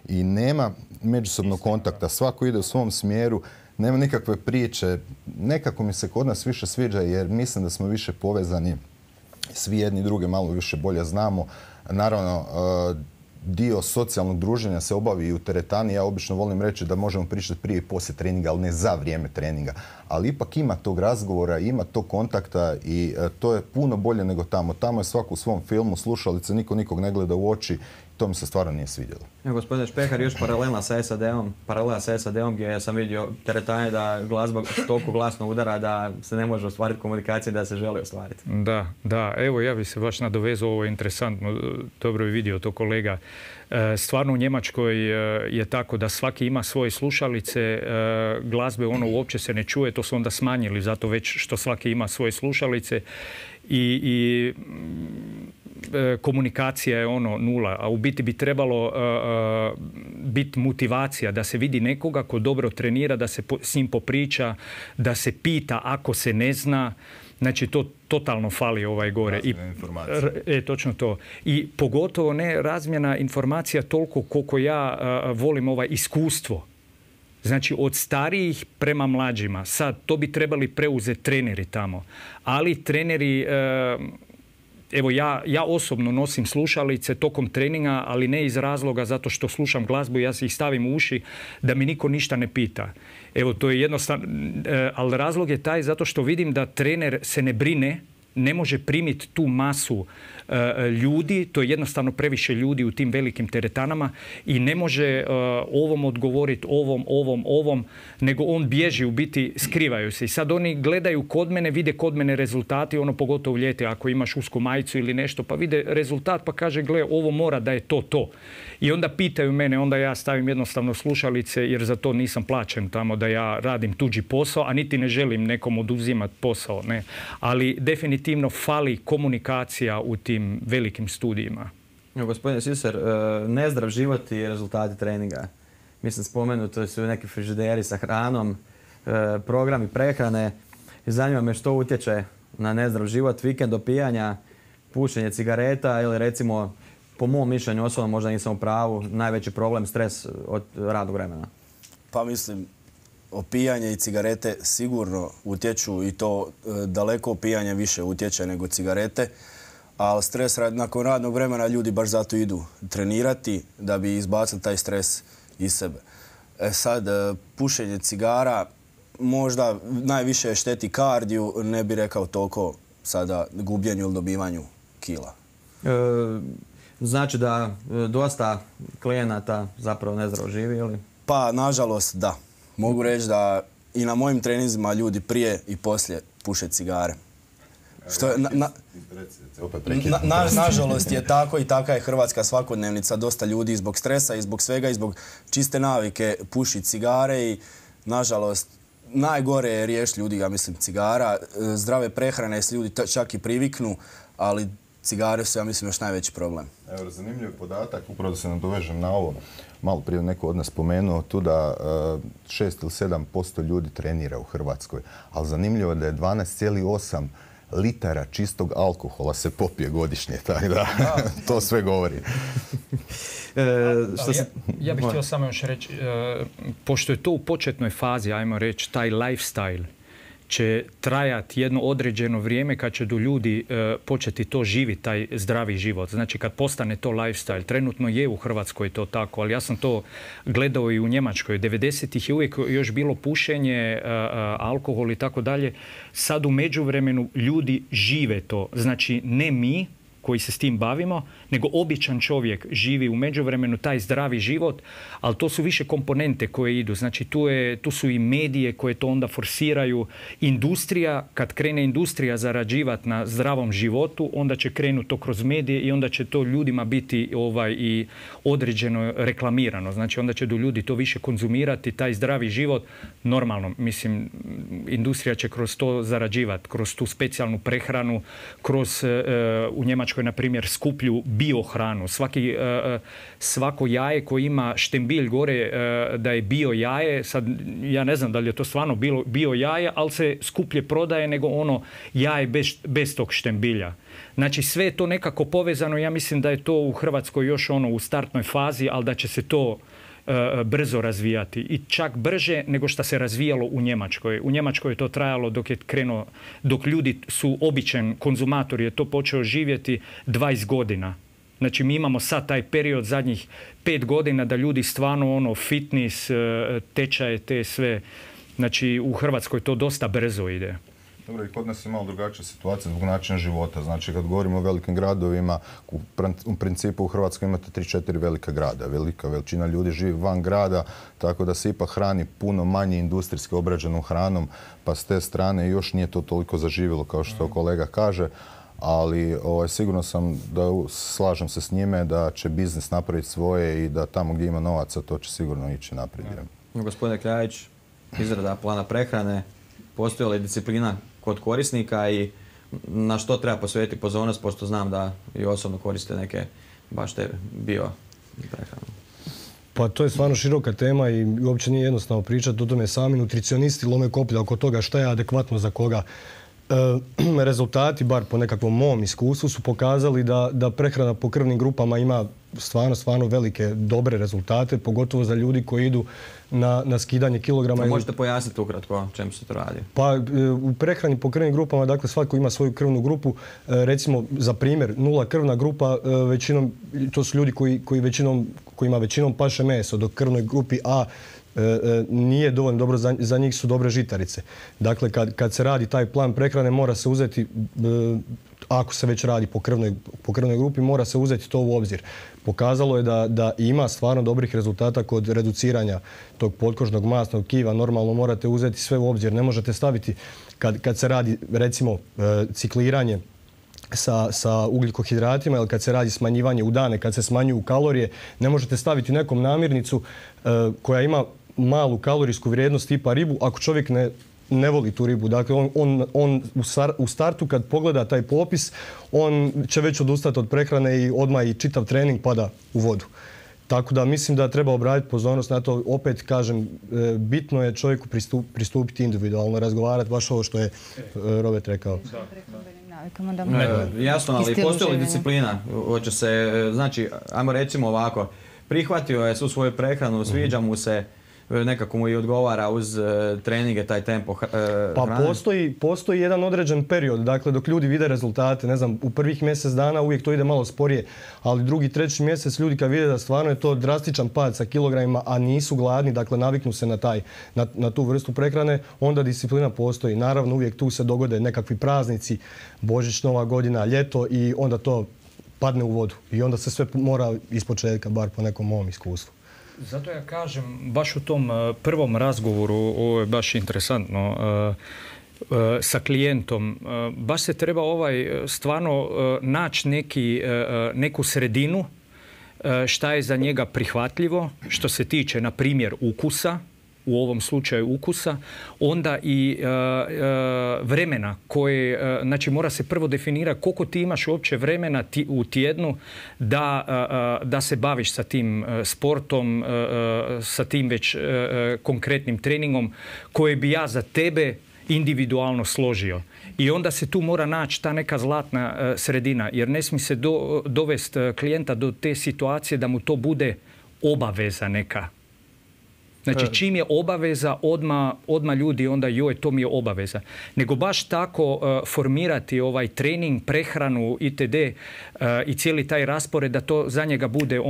i nema međusobnog kontakta, svako ide u svom smjeru, nema nikakve priče. Nekako mi se kod nas više sviđa jer mislim da smo više povezani, svi jedni druge malo više bolje znamo. Naravno, dio socijalnog druženja se obavi i u teretani. Ja obično volim reći da možemo pričati prije i poslije treninga, ali ne za vrijeme treninga. Ali ipak ima tog razgovora, ima tog kontakta i to je puno bolje nego tamo. Tamo je svako u svom filmu, slušalice, niko nikog ne gleda u oči. To mi se stvarno nije svidjelo. Gospodine Špehar, još paralela sa SAD-om gdje sam vidio teretane da glazba toliko glasno udara da se ne može ostvariti komunikacija da se želi ostvariti. Da. Evo ja bih se baš nadovezao, ovo je interesantno, dobro je vidio to kolega. Stvarno u Njemačkoj je tako da svaki ima svoje slušalice, glazbe uopće se ne čuje, to su onda smanjili zato već što svaki ima svoje slušalice i komunikacija je nula, a u biti bi trebalo biti motivacija da se vidi nekoga ko dobro trenira, da se s njim popriča, da se pita ako se ne zna. Znači, to totalno fali gore. Točno to. I pogotovo ne razmjena informacija toliko koliko ja volim iskustvo. Znači od starijih prema mlađima. Sad, to bi trebali preuzeti treneri tamo. Ali treneri... Evo, ja osobno nosim slušalice tokom treninga, ali ne iz razloga zato što slušam glazbu i ja si ih stavim u uši da mi niko ništa ne pita. Evo, to je jednostavno, ali razlog je taj zato što vidim da trener se ne brine, ne može primiti tu masu ljudi, to je jednostavno previše ljudi u tim velikim teretanama i ne može ovom odgovoriti, ovom, nego on bježi, u biti skrivaju se. I sad oni gledaju kod mene, vide kod mene rezultati, ono pogotovo ljeti, ako imaš usku majicu ili nešto, pa vide rezultat pa kaže gle, ovo mora da je to. I onda pitaju mene, onda ja stavim jednostavno slušalice jer za to nisam plaćen tamo da ja radim tuđi posao, a niti ne želim nekom oduzimati posao. Ne. Ali definitivno fali komunikacija u tim velikim studijima. Gospodine Siser, nezdrav život i rezultati treninga. Mislim, spomenuto su neki frižideri sa hranom, programi prehrane. Zanima me što utječe na nezdrav život, vikend opijanja, pušenje cigareta ili recimo, po mom mišljenju osobno, možda nisam u pravu, najveći problem stres od radnog vremena. Pa mislim, opijanje i cigarete sigurno utječu i to daleko opijanje više utječe nego cigarete. Ali stres nakon radnog vremena ljudi baš zato idu trenirati da bi izbacili taj stres iz sebe. Sad, pušenje cigara možda najviše šteti kardiju, ne bi rekao toliko sada gubljenju ili dobivanju kila. Znači da dosta klijenata zapravo nezdravo živi ili? Pa, nažalost, da. Mogu reći da i na mojim treninzima ljudi prije i poslije puše cigare. Što je, nažalost je tako i taka je hrvatska svakodnevnica. Dosta ljudi zbog stresa i zbog svega i zbog čiste navike puši cigare i nažalost najgore je riješiti ljudi, ja mislim, cigara. Zdrave prehrane se ljudi čak i priviknu, ali cigare su, ja mislim, još najveći problem. Evo, zanimljiv podatak, upravo da se nadovežem na ovo. Malo prije neko od nas spomenuo tu da 6 ili 7% ljudi trenira u Hrvatskoj, ali zanimljivo je da je 12,8 litara čistog alkohola se popije godišnje, tako da to sve govori. Ja bih htio samo još reći, pošto je to u početnoj fazi, ajmo reći, taj lifestyle će trajati jedno određeno vrijeme kad će do ljudi početi to živjeti, taj zdravi život. Znači kad postane to lifestyle, trenutno je u Hrvatskoj to tako, ali ja sam to gledao i u Njemačkoj. 90-ih je uvijek još bilo pušenje, alkohol i tako dalje. Sad u međuvremenu ljudi žive to. Znači ne mi koji se s tim bavimo, nego običan čovjek živi u međuvremenu taj zdravi život, ali to su više komponente koje idu. Znači tu su i medije koje to onda forsiraju. Industrija, kad krene industrija zarađivati na zdravom životu, onda će krenuti to kroz medije i onda će to ljudima biti i određeno reklamirano. Znači onda će do ljudi to više konzumirati, taj zdravi život. Normalno, mislim, industrija će kroz to zarađivati, kroz tu specijalnu prehranu, kroz u Njemačkoj, na primjer, skuplju biohranu. Svako jaje koje ima štembilj gore da je bio jaje, sad ja ne znam da li je to stvarno bio jaje, ali se skuplje prodaje nego ono jaje bez tog štembilja. Znači sve je to nekako povezano. Ja mislim da je to u Hrvatskoj još u startnoj fazi, ali da će se to brzo razvijati i čak brže nego što se razvijalo u Njemačkoj. U Njemačkoj je to trajalo dok ljudi su običan konzumator je to počeo živjeti 20 godina. Znači mi imamo sad taj period zadnjih 5 godina da ljudi stvarno fitness, tečaje, te sve. Znači u Hrvatskoj to dosta brzo ide. Dobro, i kod nas je malo drugačija situacija zbog načina života. Znači, kad govorimo o velikim gradovima, u principu u Hrvatskoj imate 3-4 velika grada. Velika većina ljudi živi van grada, tako da se ipak hrani puno manje industrijski obrađenom hranom, pa s te strane još nije to toliko zaživjelo kao što kolega kaže. Ali sigurno sam da slažem se s njime da će biznis napraviti svoje i da tamo gdje ima novaca to će sigurno ići naprijed. Gospodine Kljajić, izrada plana prehrane, postoji li disciplina kod korisnika i na što treba posvetiti pozornost, pošto znam da i osobno koriste neke baš te bio prehranu? Pa to je stvarno široka tema i uopće nije jednostavno pričati o tome. Sami nutricionisti lome koplja oko toga šta je adekvatno za koga. Rezultati, bar po nekakvom mom iskustvu, su pokazali da prehrana po krvnim grupama ima stvarno velike, dobre rezultate, pogotovo za ljudi koji idu na skidanje kilograma. Možete pojasniti ukratko čemu se to radi? Pa u prehrani po krvnim grupama, dakle svako ima svoju krvnu grupu. Recimo, za primjer, 0 krvna grupa, većinom, to su ljudi kojima većinom paše meso, dok krvnoj grupi A nije dovoljno dobro, za njih su dobre žitarice. Dakle, kad se radi taj plan prehrane, mora se uzeti, ako se već radi po krvnoj grupi, mora se uzeti to u obzir. Pokazalo je da ima stvarno dobrih rezultata kod reduciranja tog potkožnog masnog tkiva. Normalno morate uzeti sve u obzir. Ne možete staviti, kad se radi recimo cikliranje sa ugljikohidratima ili kad se radi smanjivanje u dane, kad se smanjuju kalorije, ne možete staviti nekom namirnicu koja ima malu kalorijsku vrijednost tipa ribu ako čovjek ne voli tu ribu. Dakle, on u startu kad pogleda taj popis, on će već odustati od prehrane i odmah i čitav trening pada u vodu. Tako da mislim da treba obratiti pozornost na to. Opet kažem, bitno je čovjeku pristupiti individualno, razgovarati, baš ovo što je Robert rekao. Jasno, ali postoji li disciplina? Hoće se, znači, ajmo recimo ovako, prihvatio je svu svoju prehranu, sviđa mu se, nekako mu i odgovara uz treninge, taj tempo hrane? Pa postoji jedan određen period, dakle dok ljudi vide rezultate, ne znam, u prvih mjesec dana uvijek to ide malo sporije, ali drugi, treći mjesec ljudi kad vide da stvarno je to drastičan pad sa kilogramima, a nisu gladni, dakle naviknu se na tu vrstu prehrane, onda disciplina postoji. Naravno uvijek tu se dogode nekakvi praznici, Božić, Nova godina, ljeto i onda to padne u vodu i onda se sve mora ispočetka, bar po nekom mom iskustvu. Zato ja kažem, baš u tom prvom razgovoru, ovo je baš interesantno, sa klijentom, baš se treba stvarno naći neku sredinu šta je za njega prihvatljivo, što se tiče, na primjer, ukusa, u ovom slučaju ukusa, onda i vremena koje, znači mora se prvo definirati koliko ti imaš uopće vremena u tjednu da se baviš sa tim sportom, sa tim već konkretnim treningom koje bi ja za tebe individualno složio. I onda se tu mora naći ta neka zlatna sredina, jer ne smije se dovesti klijenta do te situacije da mu to bude obaveza neka. Znači, čim je obaveza, odmah ljudi onda joj, to mi je obaveza. Nego baš tako formirati ovaj trening, prehranu itd. I cijeli taj raspored da to za njega bude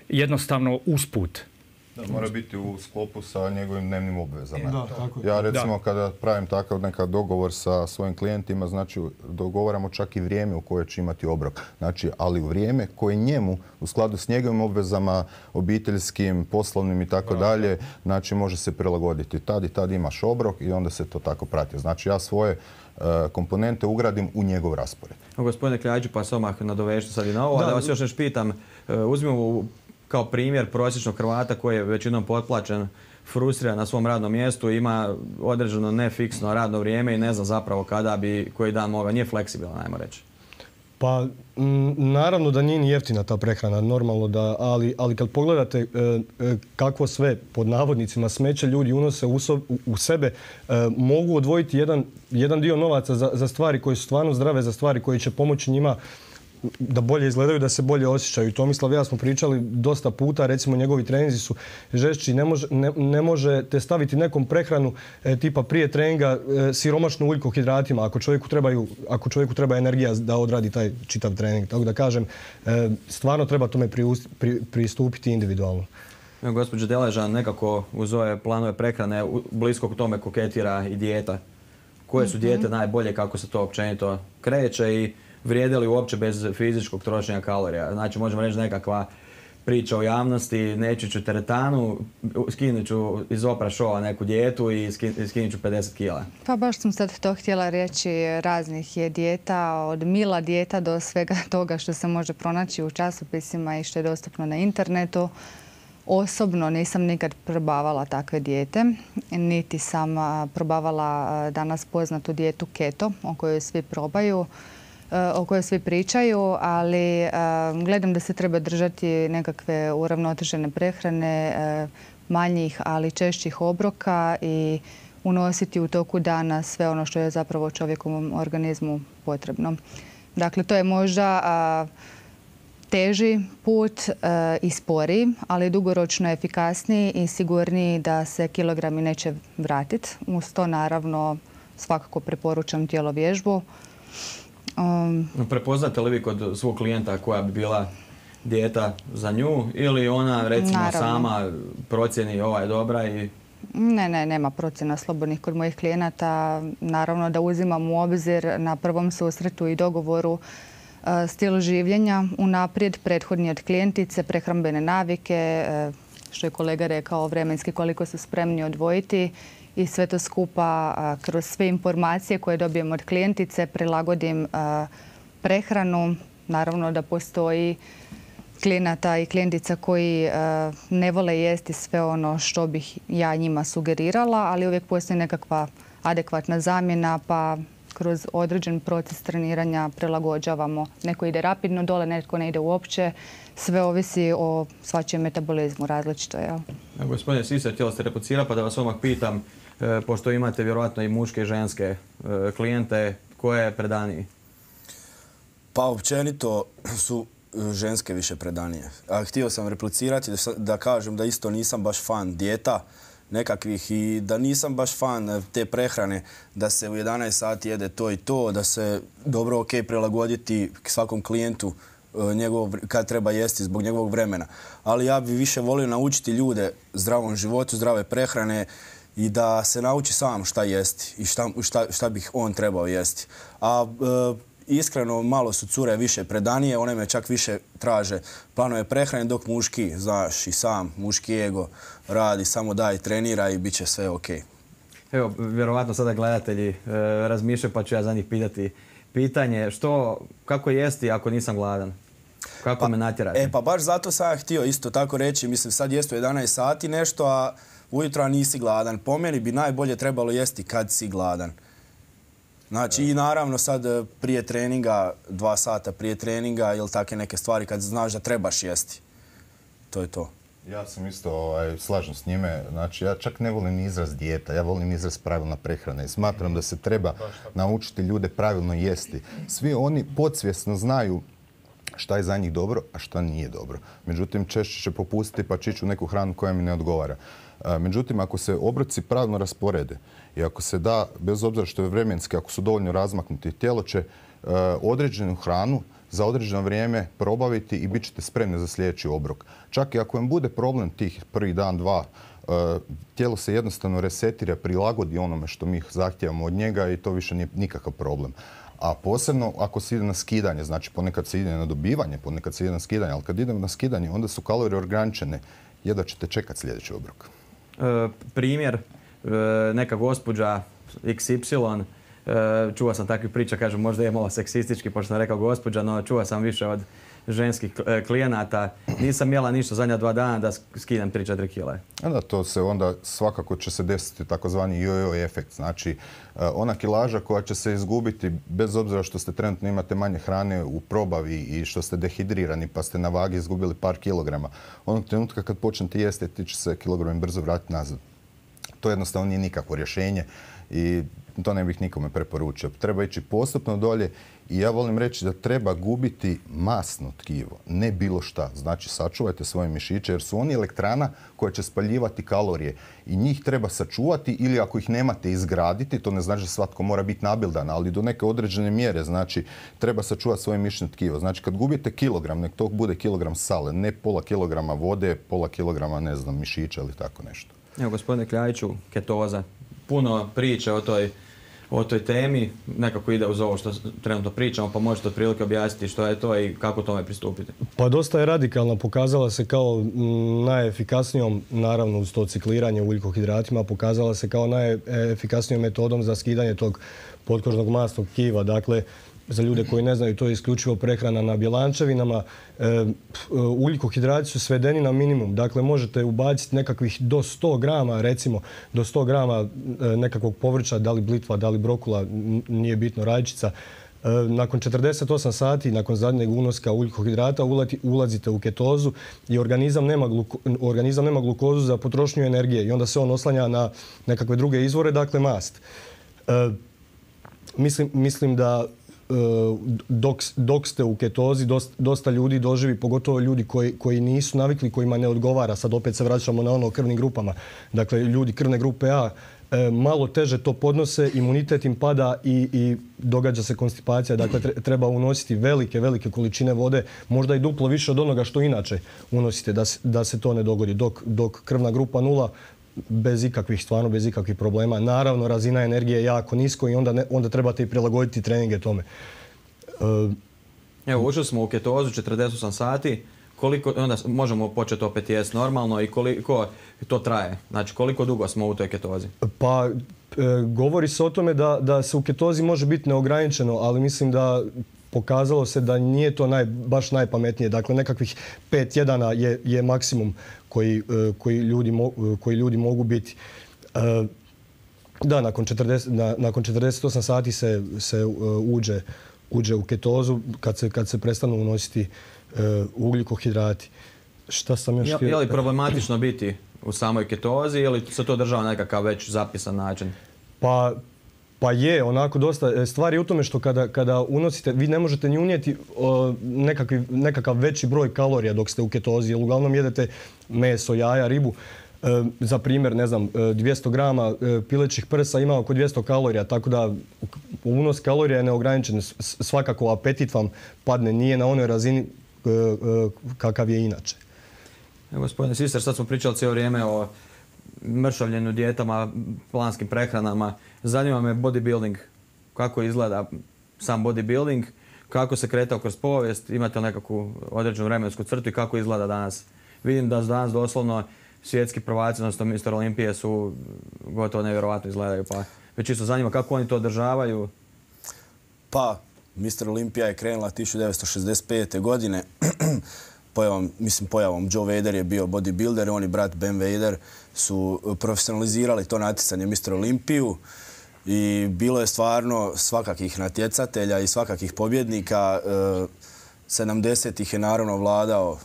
jednostavno usput. Da, mora biti u sklopu sa njegovim dnevnim obvezama. Ja recimo kada pravim takav nekakav dogovor sa svojim klijentima, znači dogovaramo čak i vrijeme u koje će imati obrok. Znači, ali u vrijeme koje njemu u skladu s njegovim obvezama, obiteljskim, poslovnim i tako dalje, znači može se prilagoditi. Tad i tad imaš obrok i onda se to tako prati. Znači ja svoje komponente ugradim u njegov raspored. Gospodine Kljađu, pa se odmah nadovežite sad i na ovo, da vas još nešto pitam. Uzmimo kao primjer prosječnog Hrvata koji je većinom potplaćen, frustriran na svom radnom mjestu, ima određeno nefiksno radno vrijeme i ne zna zapravo kada bi koji dan mogao. Nije fleksibilan, ajmo reći. Pa naravno da nije ni jeftina ta prehrana, normalno da, ali kad pogledate kakvo sve pod navodnicima smeće ljudi unose u sebe, mogu odvojiti jedan dio novaca za stvari koje su stvarno zdrave, za stvari koje će pomoći njima da bolje izgledaju, da se bolje osjećaju. Tomislav i ja smo pričali dosta puta, recimo njegovi treninzi su žešći, možete staviti nekom prehranu tipa prije treninga siromašnu ugljikohidratima ako čovjeku treba energija da odradi taj čitav trening. Tako da kažem, stvarno treba tome pristupiti individualno. Gospođa Deležan nekako uz ove planove prehrane blisko k tome koketira i dijeta. Koje su dijete najbolje, kako se to općenito kreće i vrijede li uopće bez fizičkog trošenja kalorija? Znači, možemo reći nekakva priča o javnosti, neću ću teretanu, skinut ću iz Oprah showa neku dijetu i skinut ću 50 kila. Pa baš sam sad to htjela reći, raznih je dijeta, od mila dijeta do svega toga što se može pronaći u časopisima i što je dostupno na internetu. Osobno nisam nikad probavala takve dijete, niti sam probavala danas poznatu dijetu keto, o kojoj svi probaju, o kojoj svi pričaju, ali gledam da se treba držati nekakve uravnotežene prehrane, manjih, ali češćih obroka i unositi u toku dana sve ono što je zapravo čovjekovom organizmu potrebno. Dakle, to je možda teži put i sporiji, ali dugoročno efikasniji i sigurniji da se kilogrami neće vratiti. Uz to naravno svakako preporučam tjelovježbu. Prepoznate li vi kod svog klijenta koja bi bila dijeta za nju ili ona recimo sama procjeni ova je dobra i... Ne, nema procjena slobodnih kod mojih klijenata. Naravno da uzimam u obzir na prvom susretu i dogovoru stil življenja, unaprijed prethodni od klijentice, prehrambene navike, što je kolega rekao, vremenski koliko su spremni odvojiti i sve to skupa kroz sve informacije koje dobijem od klijentice prilagodim prehranu. Naravno da postoji klijenata i klijentica koji ne vole jesti sve ono što bih ja njima sugerirala, ali uvijek postoji nekakva adekvatna zamjena pa kroz određen proces treniranja prilagođavamo. Neko ide rapidno dole, netko ne ide uopće. Sve ovisi o svačijem metabolizmu različito. Gospodine Sise, htjela ste replicirati pa da vas odmah pitam, pošto imate vjerojatno i muške i ženske klijente, koje je predaniji? Pa općenito su ženske više predanije. A htio sam replicirati da kažem da isto nisam baš fan dijeta nekakvih i da nisam baš fan te prehrane da se u 11 sati jede to i to, da se dobro prilagoditi svakom klijentu kad treba jesti zbog njegovog vremena. Ali ja bi više volio naučiti ljude zdravom životu, zdrave prehrane i da se nauči sam šta jesti i šta bih on trebao jesti. A iskreno, malo su cure više predanije, one me čak više traže planove prehrane, dok muški, znaš, i sam muški ego radi, samo daj, trenira i bit će sve ok. Evo, vjerovatno sada gledatelji razmišljaju pa ću ja za njih pitati pitanje, kako jesti ako nisam gladan? Kako me natjerati? Pa baš zato sam ja htio isto tako reći, mislim sad jesti u 11 sati nešto, a ujutro nisi gladan. Po meni bi najbolje trebalo jesti kad si gladan. Znači i naravno sad prije treninga, 2 sata prije treninga ili takve neke stvari kad znaš da trebaš jesti. To je to. Ja sam isto slažem s njime. Znači ja čak ne volim izraz dijeta, ja volim izraz pravilna prehrana i smatram da se treba naučiti ljude pravilno jesti. Svi oni podsvjesno znaju šta je za njih dobro, a šta nije dobro. Međutim, češće će popustiti pa će ići u neku hranu koja mi ne odgovara. Međutim, ako se obroci pravilno rasporede i ako se da, bez obzira što je vremenski, ako su dovoljno razmaknuti, tijelo će određenu hranu za određeno vrijeme probaviti i bit ćete spremni za sljedeći obrok. Čak i ako vam bude problem tih prvi dan, dva, tijelo se jednostavno resetira, prilagodi onome što mi zahtijevamo od njega i to više nije nikakav problem. A posebno ako se ide na skidanje, znači ponekad se ide na dobivanje, ponekad se ide na skidanje, ali kad idemo na skidanje onda su kalorije ograničene, jedva ćete čekati sljedeći obrok. Primjer, neka gospođa XY, čuo sam takvih priča, kažem možda je malo seksistički pošto sam rekao gospođa, no čuo sam više od ženskih klijenata. Nisam jela ništa zadnja 2 dana da skinem 3-4 kile. Da, to se onda svakako će se desiti takozvani jojo efekt. Znači, ona kilaža koja će se izgubiti bez obzira što ste trenutno imate manje hrane u probavi i što ste dehidrirani pa ste na vagi izgubili par kilograma. Onog trenutka kad počnete jesti ti će se kilogrami brzo vratiti nazad. To jednostavno nije nikakvo rješenje i to ne bih nikome preporučio. Treba ići postupno dolje i ja volim reći da treba gubiti masno tkivo, ne bilo šta. Znači, sačuvajte svoje mišiće jer su oni elektrana koja će spaljivati kalorije i njih treba sačuvati ili ako ih nemate izgraditi, to ne znači da svatko mora biti nabildan, ali do neke određene mjere, znači, treba sačuvati svoje mišićno tkivo. Znači, kad gubite kilogram, nek to bude kilogram sale, ne pola kilograma vode, pola kilograma, ne znam, mišića ili tako nešto. Evo, gospodine Kljajiću, ketoza. Puno priče o toj temi, nekako ide uz ovo što trenutno pričamo, pa možete otprilike objasniti što je to i kako tome pristupiti. Pa dosta je radikalna, pokazala se kao najefikasnijom, naravno uz to cikliranje ugljikohidratima, pokazala se kao najefikasnijom metodom za skidanje tog potkožnog masnog tkiva. Dakle, za ljude koji ne znaju, to je isključivo prehrana na bjelančevinama. Ugljikohidrati su svedeni na minimum. Dakle, možete ubaciti nekakvih do 100 grama, recimo do 100 grama nekakvog povrća, da li blitva, da li brokula, nije bitno, rajčica, Nakon 48 sati, nakon zadnjeg unoska ugljikohidrata, ulazite u ketozu i organizam nema glukozu za potrošnju energije i onda se on oslanja na nekakve druge izvore, dakle mast. Mislim da dok ste u ketozi, dosta ljudi doživi, pogotovo ljudi koji nisu navikli, kojima ne odgovara. Sad opet se vraćamo na ono o krvnim grupama. Dakle, ljudi krvne grupe A malo teže to podnose, imunitet im pada i događa se konstipacija. Dakle, treba unositi velike količine vode, možda i duplo više od onoga što inače unosite, da se to ne dogodi. Dok krvna grupa 0, bez ikakvih problema. Naravno, razina energije je jako nisko i onda trebate i prilagoditi treninge tome. Evo, ušli smo u ketozu 48 sati. Onda možemo početi opet jesti normalno i koliko to traje? Znači, koliko dugo smo u toj ketozi? Pa, govori se o tome da se u ketozi može biti neograničeno, ali mislim da pokazalo se da nije to baš najpametnije. Dakle, nekakvih 5 tjedana je maksimum koji ljudi mogu biti. Da, nakon 48 sati se uđe u ketozu kad se prestanu unositi ugljikohidrati. Šta sam još htio? Je li problematično biti u samoj ketozi ili se to država nekakav već zapisan način? Pa je, onako dosta. Stvar je u tome što kada unosite, vi ne možete ni unijeti nekakav veći broj kalorija dok ste u ketozi, jer uglavnom jedete meso, jaja, ribu. Za primjer, 200 grama pilećih prsa ima oko 200 kalorija, tako da unos kalorija je neograničen. Svakako apetit vam padne, nije na onoj razini kakav je inače. Gospodine Sister, sad smo pričali cijelo vrijeme o mršavljenju, dijetama, planskim prehranama. Zanima me bodybuilding. Kako izgleda sam bodybuilding? Kako se kretao kroz povijest? Imate li nekakvu određenu vremensku crtu i kako izgleda danas? Vidim da danas doslovno svjetski prvaci, odnosno Mr. Olimpije su gotovo nevjerovatno izgledaju. Pa me čisto zanima kako oni to održavaju. Pa, Mr. Olimpija je krenula 1965. godine. Pojavom Joe Vader je bio bodybuilder, on i brat Ben Vader su profesionalizirali to natjecanje Mr. Olimpiju i bilo je stvarno svakakih natjecatelja i svakakih pobjednika. 70-ih je naravno vladao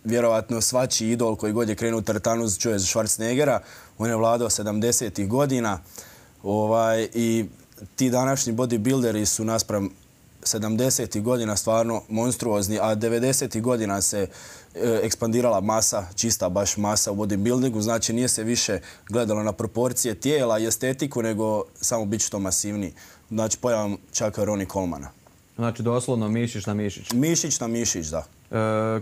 vjerovatno svačiji idol koji god je krenuo u teretanu, čuje za Schwarzeneggera. On je vladao 70-ih godina i ti današnji bodybuilderi su naspram 70-ih godina stvarno monstruozni, a 90-ih godina se ekspandirala masa, čista baš masa u bodybuildingu, znači nije se više gledalo na proporcije tijela i estetiku, nego samo biti što masivniji. Znači pojavom čaka Ronnie Colemana. Znači doslovno mišić na mišić. Mišić na mišić, da.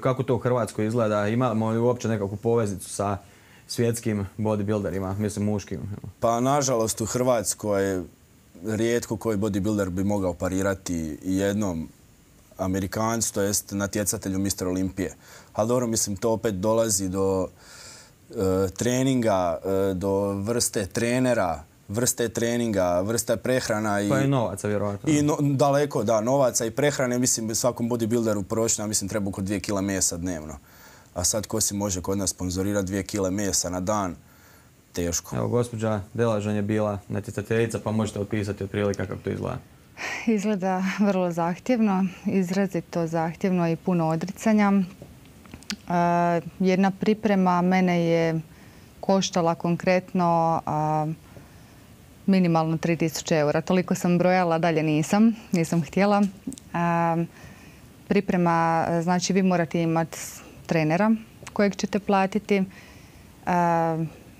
Kako to u Hrvatskoj izgleda? Imamo li uopće nekakvu poveznicu sa svjetskim bodybuilderima, mislim muškim? Pa nažalost u Hrvatskoj rijetko koji bodybuilder bi mogao parirati jednom Amerikancu, to jest natjecatelju Mr. Olimpije. Ali dobro, mislim, to opet dolazi do treninga, do vrste trenera, vrste treninga, vrste prehrana. Pa i novaca, vjerovatno. Daleko, da, novaca i prehrane. Mislim, svakom bodybuilderu prosječno, mislim, treba oko 2 kg mesa dnevno. A sad ko si može kod nas sponzorirati 2 kg mesa na dan? Teško. Evo, gospođa Delažan je bila natjecateljica, pa možete opisati otprilike kako to izgleda. Izgleda vrlo zahtjevno, izrazito zahtjevno i puno odricanja. Jedna priprema mene je koštala konkretno minimalno 3000 eura. Toliko sam brojala, dalje nisam htjela. Priprema, znači vi morate imati trenera kojeg ćete platiti.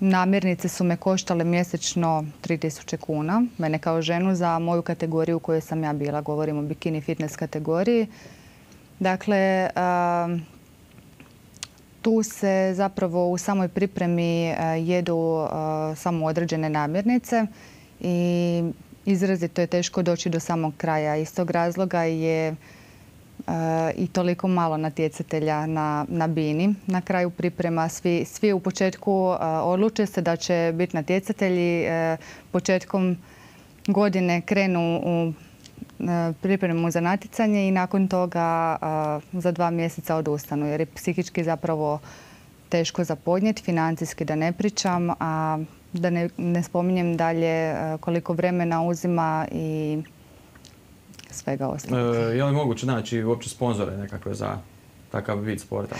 Namirnice su me koštale mjesečno 3000 kuna. Mene kao ženu za moju kategoriju u kojoj sam ja bila, govorim o bikini fitness kategoriji. Dakle, tu se zapravo u samoj pripremi jedu samo određene namirnice i izrazito je teško doći do samog kraja. Iz tog razloga je i toliko malo natjecatelja na bini. Na kraju priprema svi u početku odluče se da će biti natjecatelji. Početkom godine krenu u pripremu za natjecanje i nakon toga za 2 mjeseca odustanu jer je psihički zapravo teško za podnijeti, financijski da ne pričam, a da ne spominjem dalje koliko vremena uzima i svega ostalog. Je li moguće naći uopće sponzore nekakve za takav vid sporta?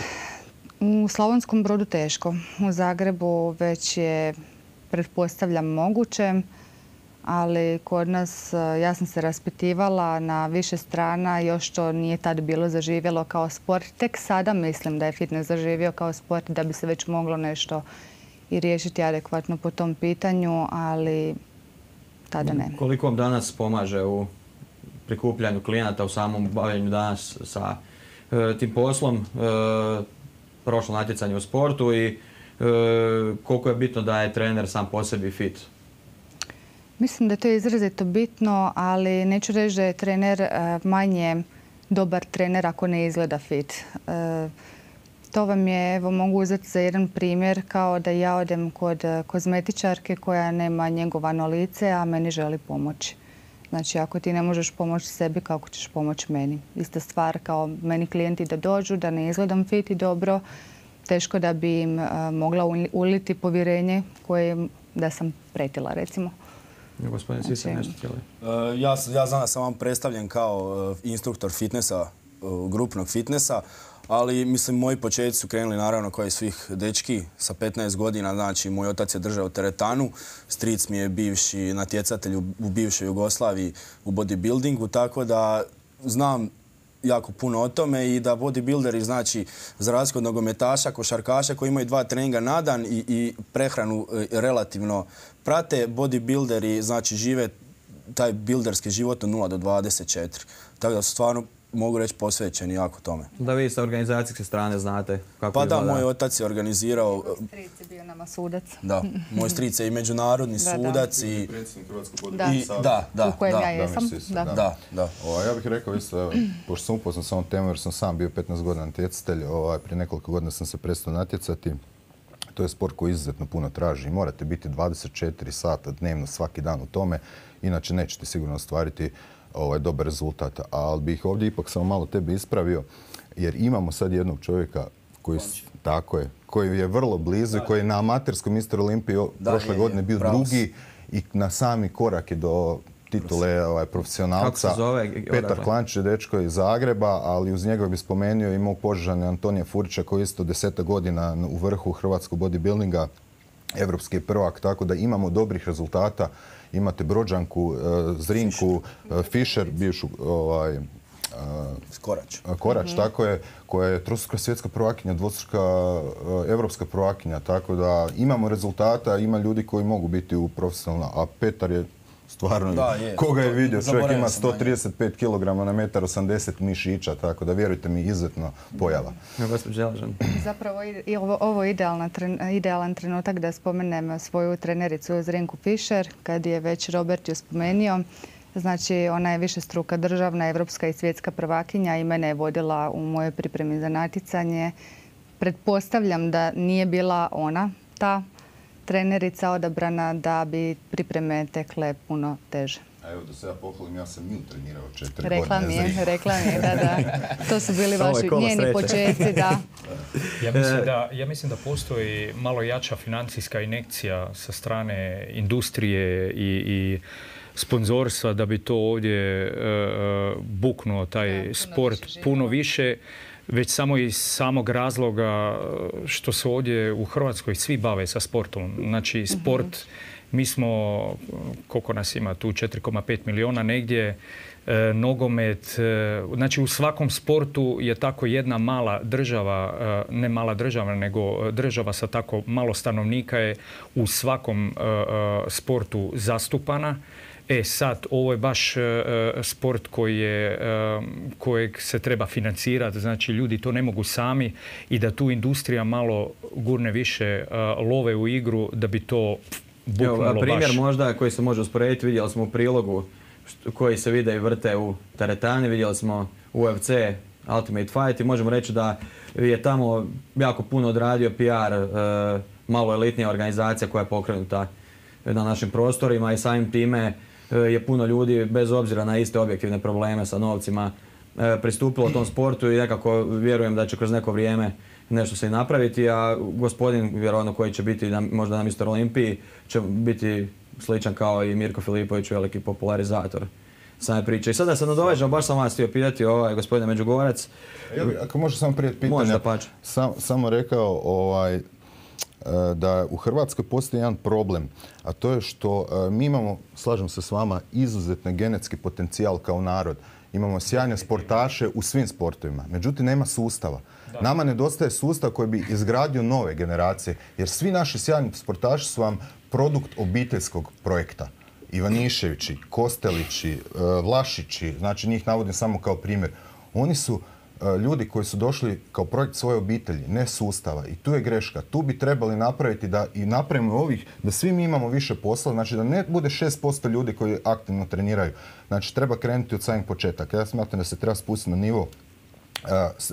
U Slavonskom Brodu teško. U Zagrebu već je, pretpostavljam, moguće, ali kod nas, ja sam se raspitivala na više strana, još to nije tad bilo zaživjelo kao sport. Tek sada mislim da je fitness zaživio kao sport, da bi se već moglo nešto i riješiti adekvatno po tom pitanju, ali tada ne. Koliko vam danas pomaže u prikupljanju klijenata, u samom bavljenju danas sa tim poslom, prošlo natjecanje u sportu i koliko je bitno da je trener sam po sebi fit? Mislim da je to izrazito bitno, ali neću reći da je trener manje dobar trener ako ne izgleda fit. To vam je, evo mogu uzeti za jedan primjer, kao da ja odem kod kozmetičarke koja nema njegovano lice, a meni želi pomoći. Znači, ako ti ne možeš pomoći sebi, kako ćeš pomoći meni? Ista stvar kao meni klijenti da dođu, da ne izgledam fit i dobro, teško da bi im mogla uliti povjerenje koje da sam pretila, recimo. Gospodin Sisa, nešto htjeli? Ja znam da sam vam predstavljen kao instruktor fitnessa, grupnog fitnessa, ali mislim moji početci su krenuli naravno kao i svih dečki sa 15 godina. Znači, moj otac je držao teretanu, stric mi je bivši natjecatelj u bivšoj Jugoslaviji u bodybuildingu, tako da znam jako puno o tome i da bodybuilderi, znači, za razliku od nogometaša, košarkaša koji imaju 2 treninga na dan i prehranu relativno prate, bodybuilderi, znači, žive taj builderski život od 0 do 24. Tako da su stvarno, mogu reći, posvećeni jako tome. Da vi sa organizacijske strane znate kako izgleda? Pa da, moj otac je organizirao... Moj stric je bio nama sudac. Da, moj stric je i međunarodni sudac i... Predsjednik Hrvatskog bodybuilding. Da, u kojem ja jesam. Da. Ja bih rekao isto, pošto sam upoznat sa ovom temom jer sam sam bio 15 godina natjecatelj, prije nekoliko godina sam se prestao natjecati. To je sport koji izuzetno puno traži. Morate biti 24 sata dnevno svaki dan u tome, inače nećete sigurno ostvariti dobar rezultat. Ali bih ovdje ipak samo malo tebe ispravio, jer imamo sad jednog čovjeka koji je vrlo blizu i koji je na amaterskom Mr. Olimpiji prošle godine bio drugi i na sami korak je do titule profesionalca. Kako se zove? Petar Klančić je dečko iz Zagreba, ali uz njega bih spomenuo i mog Požežana Antonija Furića koji je isto 10 godina u vrhu hrvatskog bodybuildinga, evropski prvak, tako da imamo dobrih rezultata. Imate Brođanku, Zrinku, Fischer, bivšu Korać, tako je, koja je trostruka svjetska prvakinja, dvostruka evropska prvakinja, tako da imamo rezultata, ima ljudi koji mogu biti u profesionalnom, a Petar je stvarno, koga je vidio, čovjek ima 135 kg na 1,80 m mišića, tako da vjerujte mi, izuzetno pojava. Zapravo ovo je idealan trenutak da spomenem svoju trenericu Zrinku Fischer, kad je već Robert ju spomenio. Znači, ona je višestruka državna, evropska i svjetska prvakinja i mene je vodila u mojoj pripremi za natjecanje. Pretpostavljam da nije bila ona ta trenerica odabrana, da bi pripreme tekle puno teže. A evo da se ja pohvalim, ja sam nju trenirao 4 godine. Rekla mi je, da. To su bili vaši njeni početci, da. Ja mislim da postoji malo jača financijska injekcija sa strane industrije i sponzorstva da bi to ovdje buknuo taj sport puno više. Već samo iz samog razloga što se ovdje u Hrvatskoj svi bave sa sportom. Znači, sport, mi smo, koliko nas ima tu, 4,5 milijuna negdje, nogomet. Znači, u svakom sportu je tako jedna mala država, ne mala država, nego država sa tako malo stanovnika je u svakom sportu zastupana. Sad, ovo je baš sport kojeg se treba financirati, znači ljudi to ne mogu sami i da tu industrija malo gurne više love u igru da bi to buknulo baš. Primjer možda koji se može usporediti, vidjeli smo u prilogu koji se vide i vrte u teretani, vidjeli smo UFC, Ultimate Fight i možemo reći da je tamo jako puno odradio PR, malo elitnija organizacija koja je pokrenuta na našim prostorima i samim time je puno ljudi, bez obzira na iste objektivne probleme sa novcima, pristupilo tom sportu i nekako vjerujem da će kroz neko vrijeme nešto se i napraviti, a gospodin, vjerovatno koji će biti možda na Mr. Olimpiji, će biti sličan kao i Mirko Filipović, veliki popularizator same priče. I sada se nadovežemo, baš sam vas htio pitati, gospodine Međugorac. Ako može samo prije pitanja, samo rekao da u Hrvatskoj postoji jedan problem, a to je što mi imamo, slažem se s vama, izuzetno genetski potencijal kao narod. Imamo sjajne sportaše u svim sportovima, međutim nema sustava. Nama nedostaje sustav koji bi izgradio nove generacije, jer svi naši sjajni sportaši su vam produkt obiteljskog projekta. Ivaniševići, Kostelići, Vlašići, znači njih navodim samo kao primjer. Oni su ljudi koji su došli kao projekt svoje obitelji, ne sustava. I tu je greška. Tu bi trebali napraviti da i napravimo da svi mi imamo više posla, znači da ne bude 6% ljudi koji aktivno treniraju. Znači treba krenuti od samih početaka. Ja smatram da se treba spustiti na nivo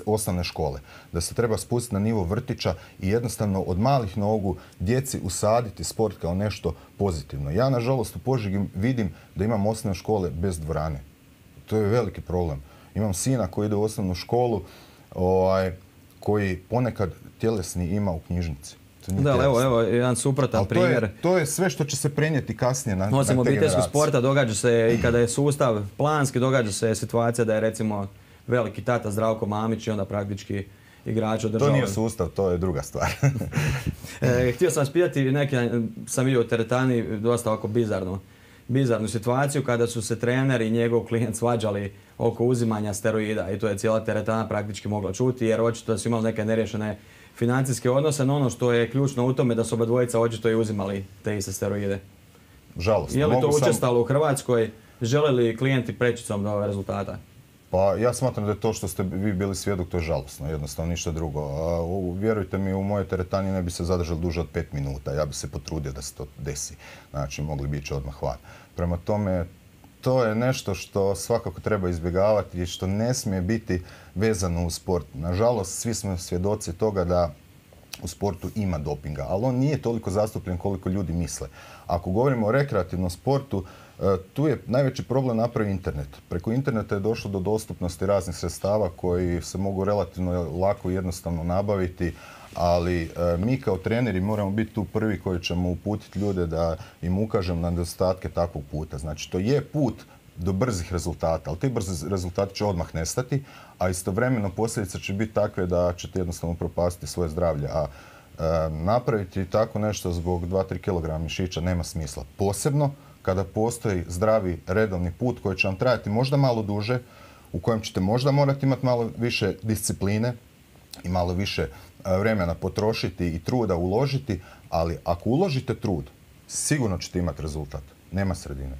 osnovne škole, da se treba spustiti na nivo vrtića i jednostavno od malih nogu djeci usaditi sport kao nešto pozitivno. Ja, nažalost, u Požegi vidim da imam osnovne škole bez dvorane. To je veliki problem. Imam sina koji ide u osnovnu školu, koji ponekad tjelesni ima u knjižnici. Da, evo jedan suprotan primjer. To je sve što će se prenijeti kasnije na te generacije. Osim obiteljskog sporta događa se i kada je sustav planski, događa se situacija da je recimo veliki tata Zdravko Mamić i onda praktički igrač održava. To nije sustav, to je druga stvar. Htio sam vas pitati, sam vidio u teretani dosta ovako bizarnu situaciju kada su se trener i njegov klijent svađali oko uzimanja steroida i to je cijela teretana praktički mogla čuti jer očito da su imali neke neriješene financijske odnose, no ono što je ključno u tome da su obadvojica očito i uzimali te iste steroide. Žalostno. Je li to učestalo u Hrvatskoj? Žele li klijenti prečicom do ove rezultata? Pa ja smatram da je to što ste vi bili svjedok, to je žalosno, jednostavno ništa drugo. Vjerujte mi, u mojoj teretani ne bi se zadržali duže od 5 minuta. Ja bi se potrudio da se to desi. Znači, mogli bi ići odmah van. Prema tome, to je nešto što svakako treba izbjegavati i što ne smije biti vezano uz sport. Nažalost, svi smo svjedoci toga da u sportu ima dopinga, ali on nije toliko zastupljen koliko ljudi misle. Ako govorimo o rekreativnom sportu, tu je najveći problem napravi internet. Preko interneta je došlo do dostupnosti raznih sredstava koji se mogu relativno lako i jednostavno nabaviti, ali mi kao treneri moramo biti tu prvi koji ćemo uputiti ljude da im ukažemo na nedostatke takvog puta. Znači, to je put do brzih rezultata, ali ti brzi rezultati će odmah nestati, a istovremeno posljedice će biti takve da ćete jednostavno propastiti svoje zdravlje. A napraviti tako nešto zbog 2-3 kg mišića nema smisla. Posebno kada postoji zdravi redovni put koji će vam trajati možda malo duže, u kojem ćete možda morati imati malo više discipline i malo više vremena potrošiti i truda uložiti, ali ako uložite trud, sigurno ćete imati rezultat. Nema sredine.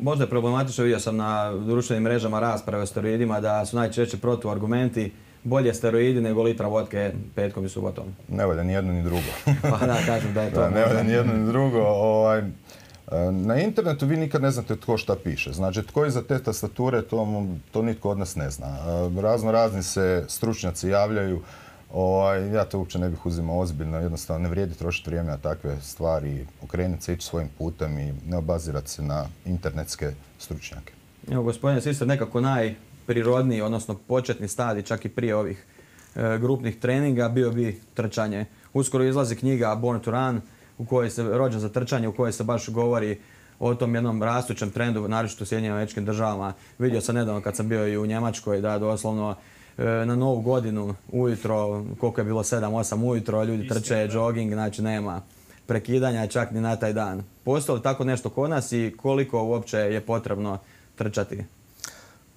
Možda je problematično, vidio sam na društvenim mrežama rasprave o steroidima da su najčešće protuargumenti bolje steroidi nego litra vodke petkom i subotom. Ne valja ni jedno ni drugo. Pa da, kažem da je to. Ne valja ni jedno ni drugo. Na internetu vi nikad ne znate tko šta piše. Znači, tko iza te tastature, to nitko od nas ne zna. Razni se stručnjaci javljaju. Ja to uopće ne bih uzimao ozbiljno. Jednostavno ne vrijedi trošiti vrijeme na takve stvari. Okrenuti se, ići svojim putem i ne obazirati se na internetske stručnjake. Evo, gospodine Sister, nekako najprirodniji, odnosno početni stadij, čak i prije ovih grupnih treninga, bio bi trčanje. Uskoro izlazi knjiga Born to Run, u kojoj se rođen za trčanje, u kojoj se baš govori o tom jednom rastućem trendu, naročito u Sjedinjenim Američkim Državama. Vidio sam nedavno kad sam bio i u Njemačkoj da doslovno na Novu godinu ujutro, koliko je bilo 7-8 ujutro, ljudi trče, jogging, znači nema prekidanja čak ni na taj dan. Postoji li tako nešto kod nas i koliko uopće je potrebno trčati?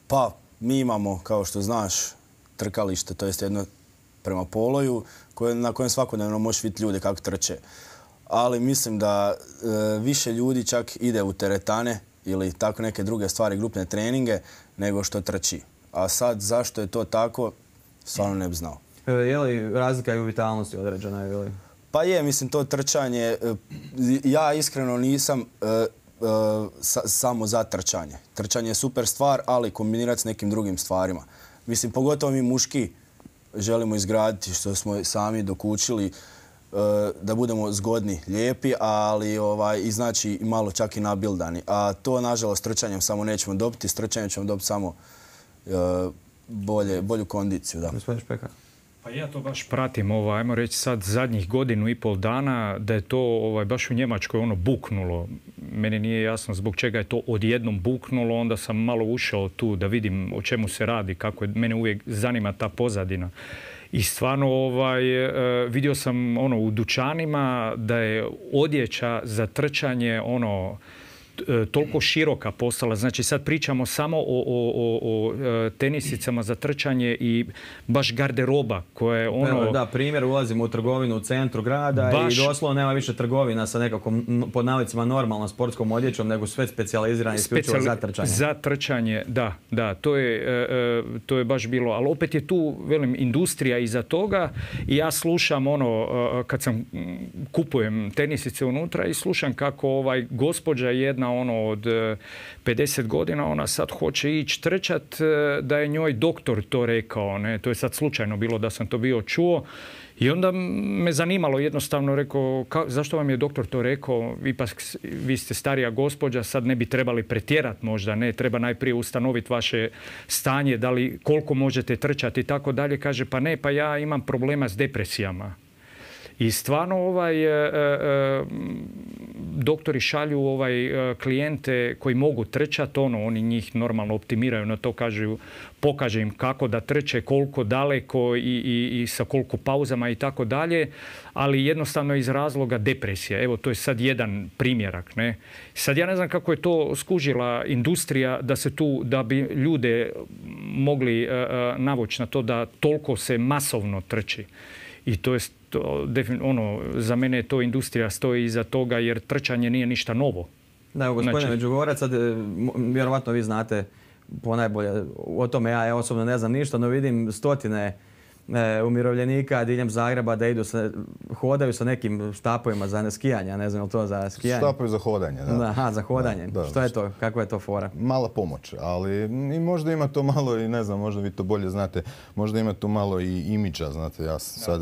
Pa, mi imamo, kao što znaš, trkalište, to jest jedno prema Poloju, na kojem svakodnevno možeš vidjeti ljude kako trče. Ali mislim da više ljudi čak ide u teretane ili tako neke druge stvari, grupne treninge, nego što trči. A sad, zašto je to tako, stvarno ne bi znao. Je li razlika i u vitalnosti određena? Ili? Pa je, mislim, to trčanje, ja iskreno nisam samo za trčanje. Trčanje je super stvar, ali kombinirati s nekim drugim stvarima. Mislim, pogotovo mi muški želimo izgraditi, što smo sami dokučili, da budemo zgodni, lijepi, ali i znači malo čak i nabildani. A to, nažalost, trčanjem samo nećemo dobiti. S trčanjem ćemo dobiti samo bolju kondiciju. Da. Gospodin Špekar. Pa ja to baš pratim, ajmo reći sad zadnjih godinu i pol dana, da je to baš u Njemačkoj buknulo. Meni nije jasno zbog čega je to odjednom buknulo, onda sam malo ušao tu da vidim o čemu se radi, kako je, mene uvijek zanima ta pozadina. I stvarno vidio sam u dućanima da je odjeća za trčanje toliko široka postala. Znači sad pričamo samo o tenisicama za trčanje i baš garderoba koja je Da, primjer, ulazimo u trgovinu u centru grada i doslovno nema više trgovina sa nekakvom pod navodnicima normalnom sportskom odjećom, nego sve specijalizirane isključivo za trčanje. Za trčanje, da. To je baš bilo. Ali opet je tu, velim, industrija iza toga i ja slušam kad sam kupujem tenisice unutra i slušam kako gospođa jedna od 50 godina, ona sad hoće ići trčat, da je njoj doktor to rekao. Ne? To je sad slučajno bilo da sam to bio čuo. I onda me zanimalo, jednostavno rekao, zašto vam je doktor to rekao? Ipak vi ste starija gospođa, sad ne bi trebali pretjerati možda, ne? Treba najprije ustanoviti vaše stanje, da li, koliko možete trčati i tako dalje. Kaže, pa ne, pa ja imam problema s depresijama. I stvarno doktori šalju klijente koji mogu trčati, oni njih normalno optimiraju na to, pokaže im kako da trče, koliko daleko i sa koliko pauzama i tako dalje, ali jednostavno iz razloga depresije. Evo, to je sad jedan primjerak. Ne? Sad ja ne znam kako je to skužila industrija da bi ljude mogli navući na to da toliko se masovno trči. I to je za mene je to industrija stoji iza toga jer trčanje nije ništa novo. Da, evo, gospodine Međugorac, sad vjerovatno vi znate ponajbolje o tome, ja osobno ne znam ništa, no vidim stotine umirovljenika diljem Zagreba da hodaju sa nekim štapovima za skijanje, ne znam je li to za skijanje? Štapovi za hodanje, da. Aha, za hodanje. Da. Što je to? Kakva je to fora? Mala pomoć, ali i možda ima to malo i ne znam, možda vi to bolje znate, možda ima tu malo i imidža, znate, ja sam sad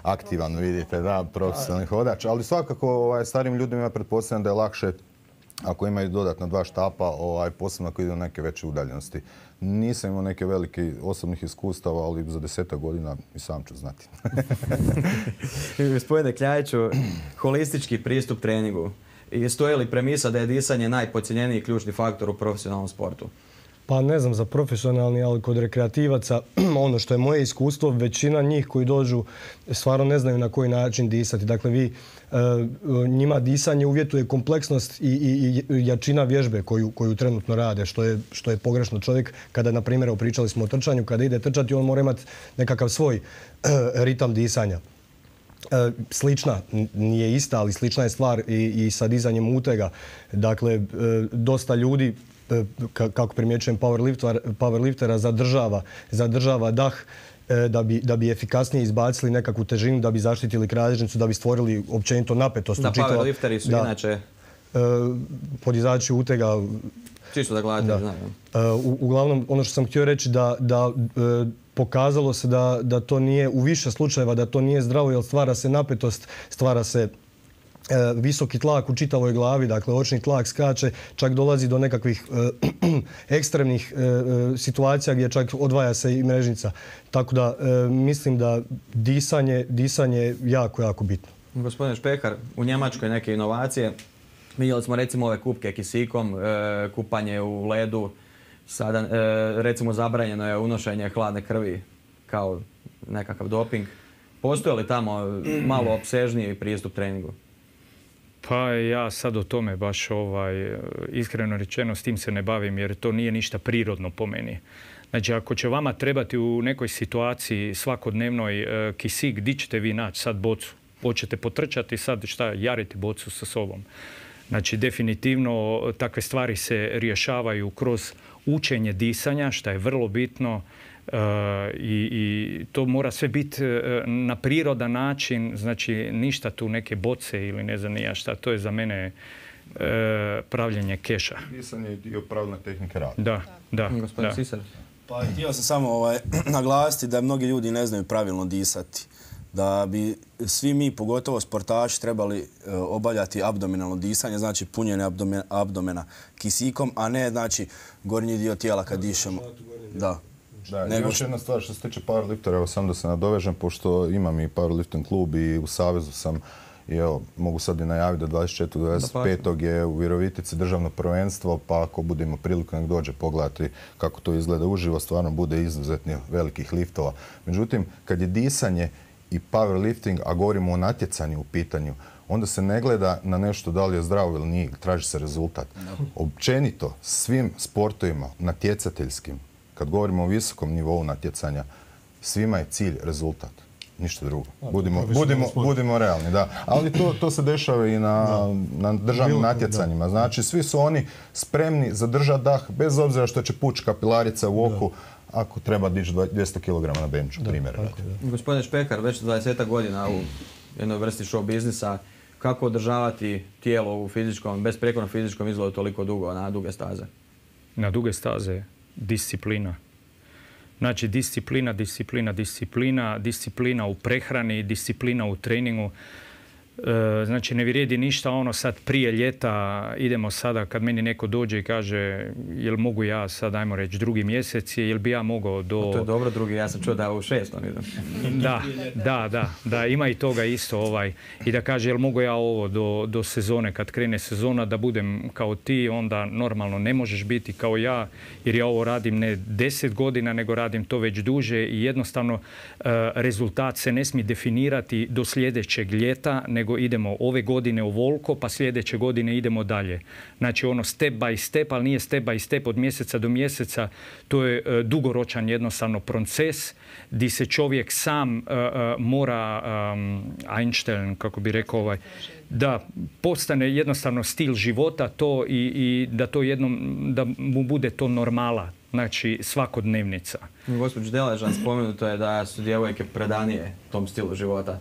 aktivan, vidite, da, profesionalni hodač, ali svakako starim ljudima ja pretpostavljam da je lakše ako imaju dodatna 2 štapa, posebno ako idu na neke veće udaljenosti. Nisam imao neke velike osobnih iskustava, ali za 10 godina i sam ću znati. Gospodine Kljajiću, holistički pristup treningu. Stoji li premisa da je disanje najpodcijenjeniji ključni faktor u profesionalnom sportu? Pa ne znam za profesionalni, ali kod rekreativaca, ono što je moje iskustvo, većina njih koji dođu stvarno ne znaju na koji način disati. Dakle, njima disanje uvjetuje kompleksnost i jačina vježbe koju trenutno rade, što je pogrešno. Čovjek, kada, na primjer, pričali smo o trčanju, kada ide trčati, on mora imati nekakav svoj ritam disanja. Slična, nije ista, ali slična je stvar i sa dizanjem utega. Dakle, dosta ljudi, kako primjećujem powerliftera, zadržava dah da bi efikasnije izbacili nekakvu težinu, da bi zaštitili kralježnicu, da bi stvorili općenito napetost. Da, powerlifteri su inače... Podizači utega... Čisto da gledate, znam. Uglavnom, ono što sam htio reći da pokazalo se da to nije, u više slučajeva, da to nije zdravo, jer stvara se napetost, stvara se visoki tlak u čitavoj glavi, dakle očni tlak skače, čak dolazi do nekakvih ekstremnih situacija gdje čak odvaja se i mrežnica. Tako da mislim da disanje je jako, jako bitno. Gospodine Špehar, u Njemačkoj neke inovacije. Vidjeli smo recimo ove kupke kisikom, kupanje u ledu. Sada recimo zabranjeno je unošenje hladne krvi kao nekakav doping. Postoji li tamo malo opsežniji pristup treningu? Pa ja sad o tome baš iskreno rečeno s tim se ne bavim jer to nije ništa prirodno po meni. Znači ako će vama trebati u nekoj situaciji svakodnevnoj kisik, gdje ćete vi naći sad bocu? Hoćete potrčati sad jariti bocu sa sobom? Znači definitivno takve stvari se rješavaju kroz učenje disanja, što je vrlo bitno. I to mora sve biti na prirodan način, znači ništa tu neke boce ili ne znam ni ja šta, to je za mene pravljenje keša. Disanje je dio pravilne tehnike rada. Da. Gospodin Sisar. Pa htio sam samo naglasiti da mnogi ljudi ne znaju pravilno disati. Da bi svi mi, pogotovo sportaši, trebali obavljati abdominalno disanje, znači punjenje abdomena kisikom, a ne znači gornji dio tijela kad dišemo. Da. Još jedna stvar što se tiče powerliftera, evo sam da se nadovežem, pošto imam i powerlifting klub i u Savezu sam i evo, mogu sad i najaviti da 24.25. je u Virovitici državno prvenstvo, pa ako budemo priliku nek dođe pogledati kako to izgleda uživo, stvarno bude izuzetno velikih liftova. Međutim, kad je disanje i powerlifting, a govorimo o natjecanju u pitanju, onda se ne gleda na nešto da li je zdravo ili nije, traži se rezultat. Općenito, svim sportovima natjecateljskim, kad govorimo o visokom nivou natjecanja, svima je cilj rezultat. Ništa drugo. Budimo realni, da. Ali to se dešava i na državnim natjecanjima. Znači, svi su oni spremni zadržati dah, bez obzira što će pući kapilarica u oku, ako treba dići 200 kg na benču, primjer. Gospodine Špehar, već 20 godina u jednoj vrsti show biznisa, kako održavati tijelo u fizičkom, besprekornom fizičkom izgledu toliko dugo na duge staze? Na duge staze disciplina. Znači disciplina u prehrani, disciplina u treningu. Znači ne vrijedi ništa ono sad prije ljeta, idemo sada kad meni neko dođe i kaže jel mogu ja sad, ajmo reći, drugi mjesec, jel bi ja mogao do... To je dobro drugi, ja sam čuo da u 6. idem. Da, ima i toga isto i da kaže jel mogu ja ovo do sezone, kad krene sezona da budem kao ti, onda normalno ne možeš biti kao ja, jer ja ovo radim ne 10 godina, nego radim to već duže i jednostavno rezultat se ne smije definirati do sljedećeg ljeta, nego idemo ove godine ovoliko, pa sljedeće godine idemo dalje. Znači ono step by step, ali nije step by step od mjeseca do mjeseca. To je dugoročan jednostavno proces gdje se čovjek sam mora Einstein, kako bi rekao, da postane jednostavno stil života to i da to da mu bude to normala. Znači svakodnevnica. Gospođo Deležan, spomenuto je da su djevojke predanije tom stilu života.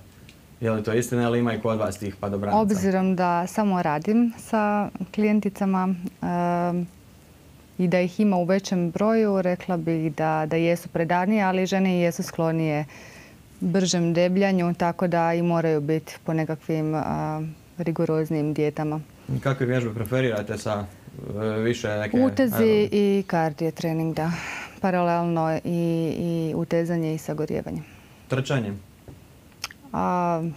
Je li to istina ili ima i kod vas tih padobranaca? Obzirom da samo radim sa klijenticama i da ih ima u većem broju, rekla bih da jesu predanije, ali žene jesu sklonije bržem debljanju, tako da i moraju biti po nekakvim rigoroznijim dijetama. Kakve vježbe preferirate sa više neke... Utezi i kardio trening, da. Paralelno i utezanje i sagorijevanje. Trčanje?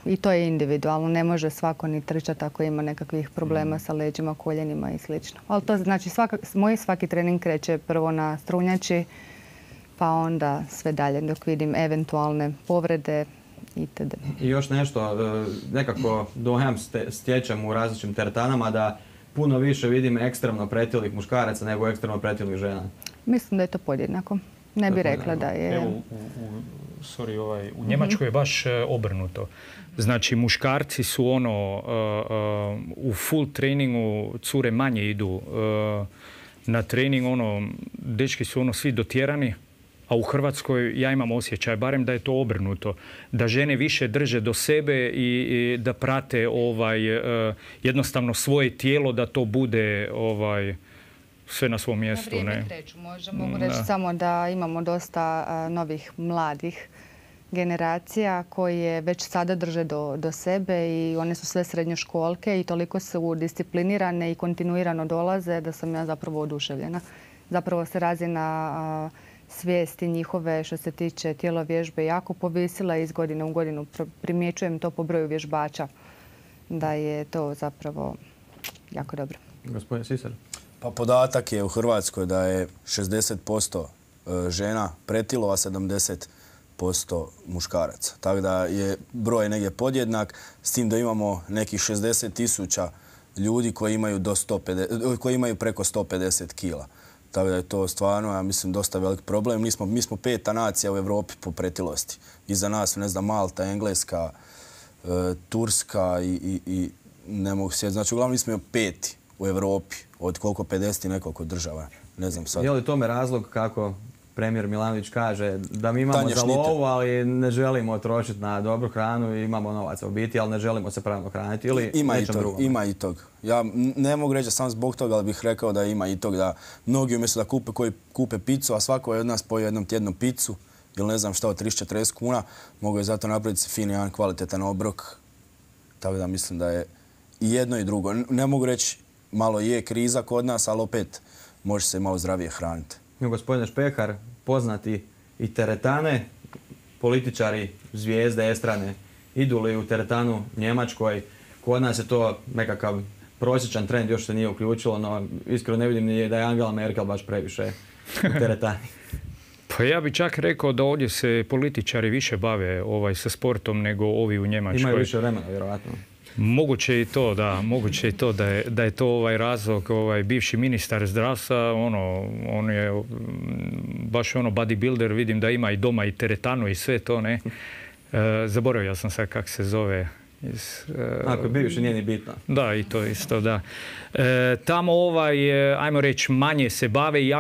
I to je individualno. Ne može svako ni trčati ako ima nekakvih problema sa leđima, koljenima i sl. Ali to znači moj svaki trening kreće prvo na strunjači, pa onda sve dalje dok vidim eventualne povrede itd. I još nešto, nekako dojam stječem u različitim teretanama da puno više vidim ekstremno pretilih muškaraca nego ekstremno pretilih žena. Mislim da je to podjednako. Ne bih rekla da je... Evo, u Njemačkoj je baš obrnuto. Znači, muškarci su u full treningu, cure manje idu na trening, dečki su svi dotjerani, a u Hrvatskoj ja imam osjećaj, barem da je to obrnuto, da žene više drže do sebe i da prate jednostavno svoje tijelo, da to bude sve na svom mjestu. Na vrijeme kreću. Mogu reći samo da imamo dosta novih mladih generacija koje već sada drže do sebe i one su sve srednjoškolke i toliko su disciplinirane i kontinuirano dolaze da sam ja zapravo oduševljena. Zapravo se razina svijesti njihove što se tiče tjelovježbe jako povisila i iz godine u godinu primjećujem to po broju vježbača da je to zapravo jako dobro. Gospodin Sisar. Pa podatak je u Hrvatskoj da je 60% žena pretilo, a 70% muškaraca. Tako da je broj negdje podjednak, s tim da imamo nekih 60.000 ljudi koji imaju preko 150 kila. Tako da je to stvarno, ja mislim, dosta velik problem. Mi smo 5. nacija u Europi po pretilosti. Iza nas, ne znam, Malta, Engleska, Turska i ne mogu sjetiti. Znači, uglavnom mi smo 5. u Europi od koliko 50 i nekoliko država. Ne znam sad. Je li tome razlog kako premijer Milanović kaže da mi imamo za lovu, ali ne želimo trošiti na dobru hranu i imamo novaca u biti, ali ne želimo se pravilno hraniti ili nečem drugom? Ima i tog. Ja ne mogu reći sam zbog toga, ali bih rekao da ima i tog da mnogi umjesto da kupe picu, a svako je od nas pojeo jednom tjednu picu ili ne znam šta od 30-40 kuna, mogu je zato napraviti fin jedan kvalitetan obrok. Tako da mislim da je i jedno i drugo. Ne mogu reći malo je kriza kod nas, ali opet može se malo zdravije hraniti. Gospodine Špehar, poznati i teretane, političari, zvijezde, estrane, idu li u teretanu Njemačkoj, kod nas je to nekakav prosječan trend, još se nije uključilo, no iskreno ne vidim ni da je Angela Merkel baš previše u teretani. Pa ja bih čak rekao da ovdje se političari više bave sa sportom nego ovi u Njemačkoj. Imaju više vremena, vjerojatno. Moguće i to, da. Moguće i to da je to razlog. Bivši ministar zdravstva, on je baš bodybuilder, vidim da ima i doma i teretanu i sve to, ne. Zaboravio sam sad kako se zove. Ako je bivši, nije ni bitno. Da, i to isto, da. Tamo ajmo reći, manje se bave i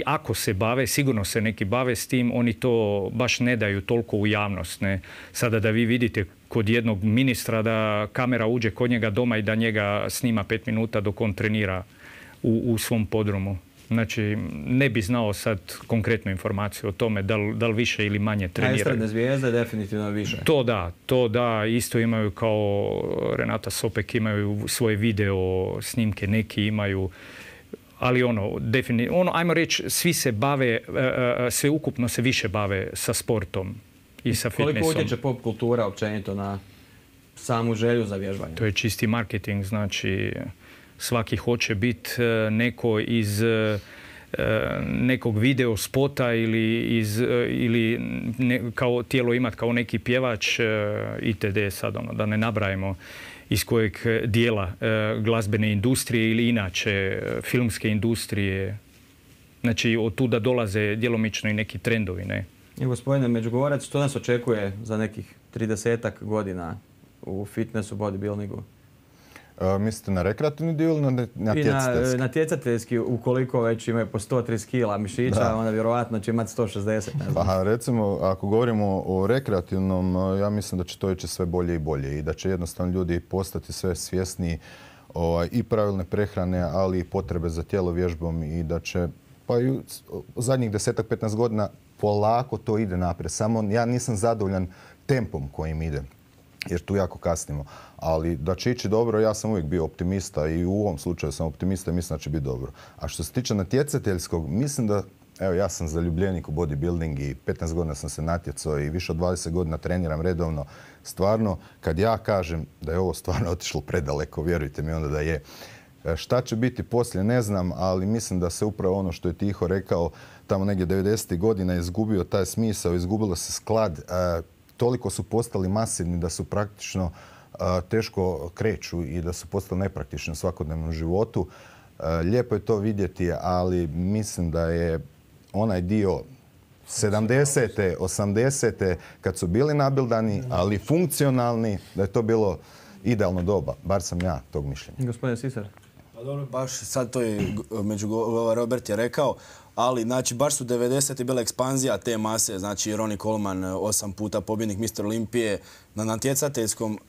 ako se bave, sigurno se neki bave s tim, oni to baš ne daju toliko u javnost. Ne? Sada da vi vidite kod jednog ministra da kamera uđe kod njega doma i da njega snima 5 minuta dok on trenira u svom podrumu. Znači, ne bi znao sad konkretnu informaciju o tome da li više ili manje treniraju. A estradne zvijezde definitivno više. To da. Isto imaju kao Renata Sopek, imaju svoje video snimke, neki imaju. Ali definitivno, ajmo reći, svi se bave, sve ukupno se više bave sa sportom i sa fitnessom. Koliko utječe pop kultura općenito na samu želju za vježbanje? To je čisti marketing, znači svaki hoće biti neko iz nekog video spota ili kao tijelo imati kao neki pjevač itd. Sad da ne nabrajemo iz kojeg dijela glazbene industrije ili inače filmske industrije. Znači od tuda dolaze djelomično i neki trendovi, ne? I gospodine Međugorac, što nas očekuje za nekih 30-ak godina u fitnessu, bodybuildingu? Mislite na rekreativni dio ili na natjecateljski? Na natjecateljski, ukoliko već imaju po 130 kila mišića, onda vjerovatno će imati 160. Pa recimo, ako govorimo o rekreativnom, ja mislim da će to ići sve bolje i bolje i da će jednostavno ljudi postati sve svjesniji i pravilne prehrane, ali i potrebe za tjelovježbom i da će, pa i u zadnjih 10-15 godina polako to ide naprijed. Samo ja nisam zadovoljan tempom kojim ide, jer tu jako kasnimo. Ali da će ići dobro, ja sam uvijek bio optimista i u ovom slučaju sam optimista i mislim da će biti dobro. A što se tiče natjecateljskog, mislim da, evo ja sam zaljubljenik u bodybuilding i 15 godina sam se natjecao i više od 20 godina treniram redovno. Stvarno, kad ja kažem da je ovo stvarno otišlo predaleko, vjerujte mi onda da je. Šta će biti poslije, ne znam, ali mislim da se upravo ono što je Tiho rekao, tamo negdje 90. godina izgubio taj smisao, izgubilo se sklad. Toliko su postali masivni da su praktično teško kreću i da su postali nepraktični u svakodnevnom životu. Lijepo je to vidjeti, ali mislim da je onaj dio 70. 80. kad su bili nabildani, ali funkcionalni, da je to bilo idealno doba. Bar sam ja tog mišljenja. Gospodin Sisar. Pa dobro, baš sad to je Robert je rekao, ali znači baš su 90. bila ekspanzija te mase, znači Ronnie Coleman 8 puta pobjednik Mr. Olimpije,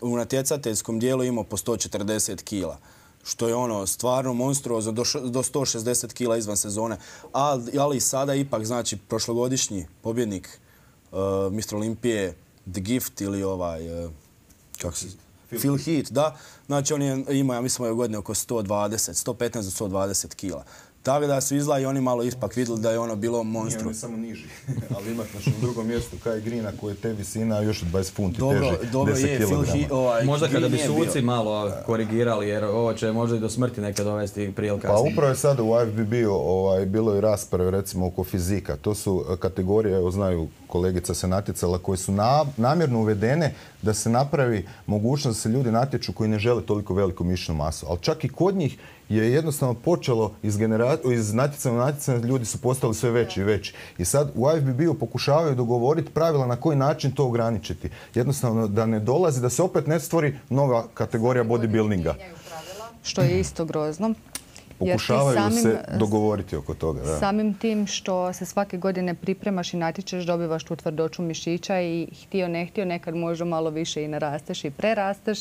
u natjecateljskom dijelu imao po 140 kila. Što je stvarno monstruozno, do 160 kila izvan sezone. Ali i sada ipak, znači, prošlogodišnji pobjednik Mr. Olimpije, The Gift ili Phil Heath, da. Znači on je imao, ja mislim, ove godine oko 115 do 120 kila. Tako da su izla i oni malo ispak vidjeli da je bilo monstru. On je samo niži, ali imat na drugom mjestu Kai Greena koji je te visina još 20 funti teži, 10 kg. Možda kada bi suci malo korigirali, jer ovo će možda i do smrti nekad dovesti prije ili kasnije. Pa upravo je sada u IFBB-u bilo i rasprave recimo oko fizika. To su kategorije, evo znaju kolegica se natjecala, koje su namjerno uvedene da se napravi mogućnost da se ljudi natječu koji ne žele toliko veliku mišićnu masu. Ali čak i kod njih je jednostavno počelo iz natjecanja u natjecanje, ljudi su postali sve veći i veći. I sad u IFBB-u pokušavaju dogovoriti pravila na koji način to ograničiti. Jednostavno da ne dolazi, da se opet ne stvori nova kategorija bodybuildinga. Što je isto grozno. Pokušavaju se dogovoriti oko toga. Da. Samim tim što se svake godine pripremaš i natječeš, dobivaš tu tvrdoću mišića i htio ne htio nekad možda malo više i narasteš i prerasteš.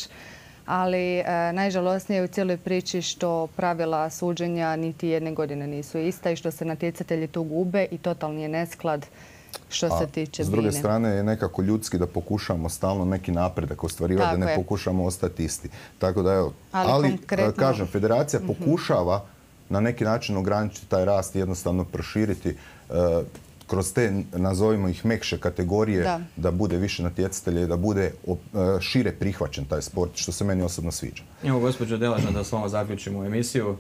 Ali najžalosnije je u cijeloj priči što pravila suđenja niti jedne godine nisu ista i što se natjecatelji tu gube i totalni je nesklad što se tiče s druge strane je nekako ljudski da pokušamo stalno neki napredak ostvarivati, da ne pokušamo ostati isti. Tako da evo, ali kažem, federacija pokušava na neki način ograničiti taj rast i jednostavno proširiti kroz te, nazovimo ih, mekše kategorije, da bude više natjecatelja i da bude šire prihvaćen taj sport, što se meni osobno sviđa. Evo, gospođo Delažna, da samo zaključimo emisiju.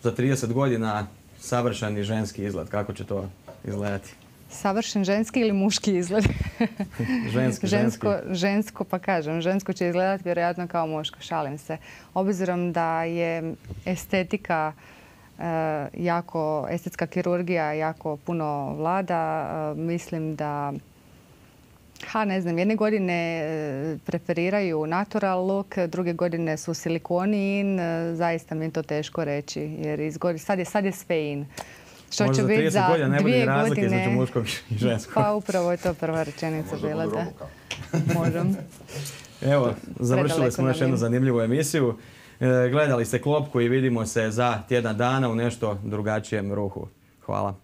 Za 30 godina savršeni ženski izgled. Kako će to izgledati? Savršen ženski ili muški izgled? Žensko, pa kažem. Žensko će izgledati vjerojatno kao muško. Šalim se. Obzirom da je estetika estetska kirurgija jako puno vlada, mislim da ne znam, jedne godine preferiraju natural look, druge godine su silikoni in, zaista mi je to teško reći, jer sad je sve in. Što će biti za 2 godine između muškog i ženskog. Pa upravo je to prva rečenica bila, da. Možem. Evo, završili smo još jednu zanimljivu emisiju. Gledali ste Klopku i vidimo se za tjedan dana u nešto drugačijem ruhu. Hvala.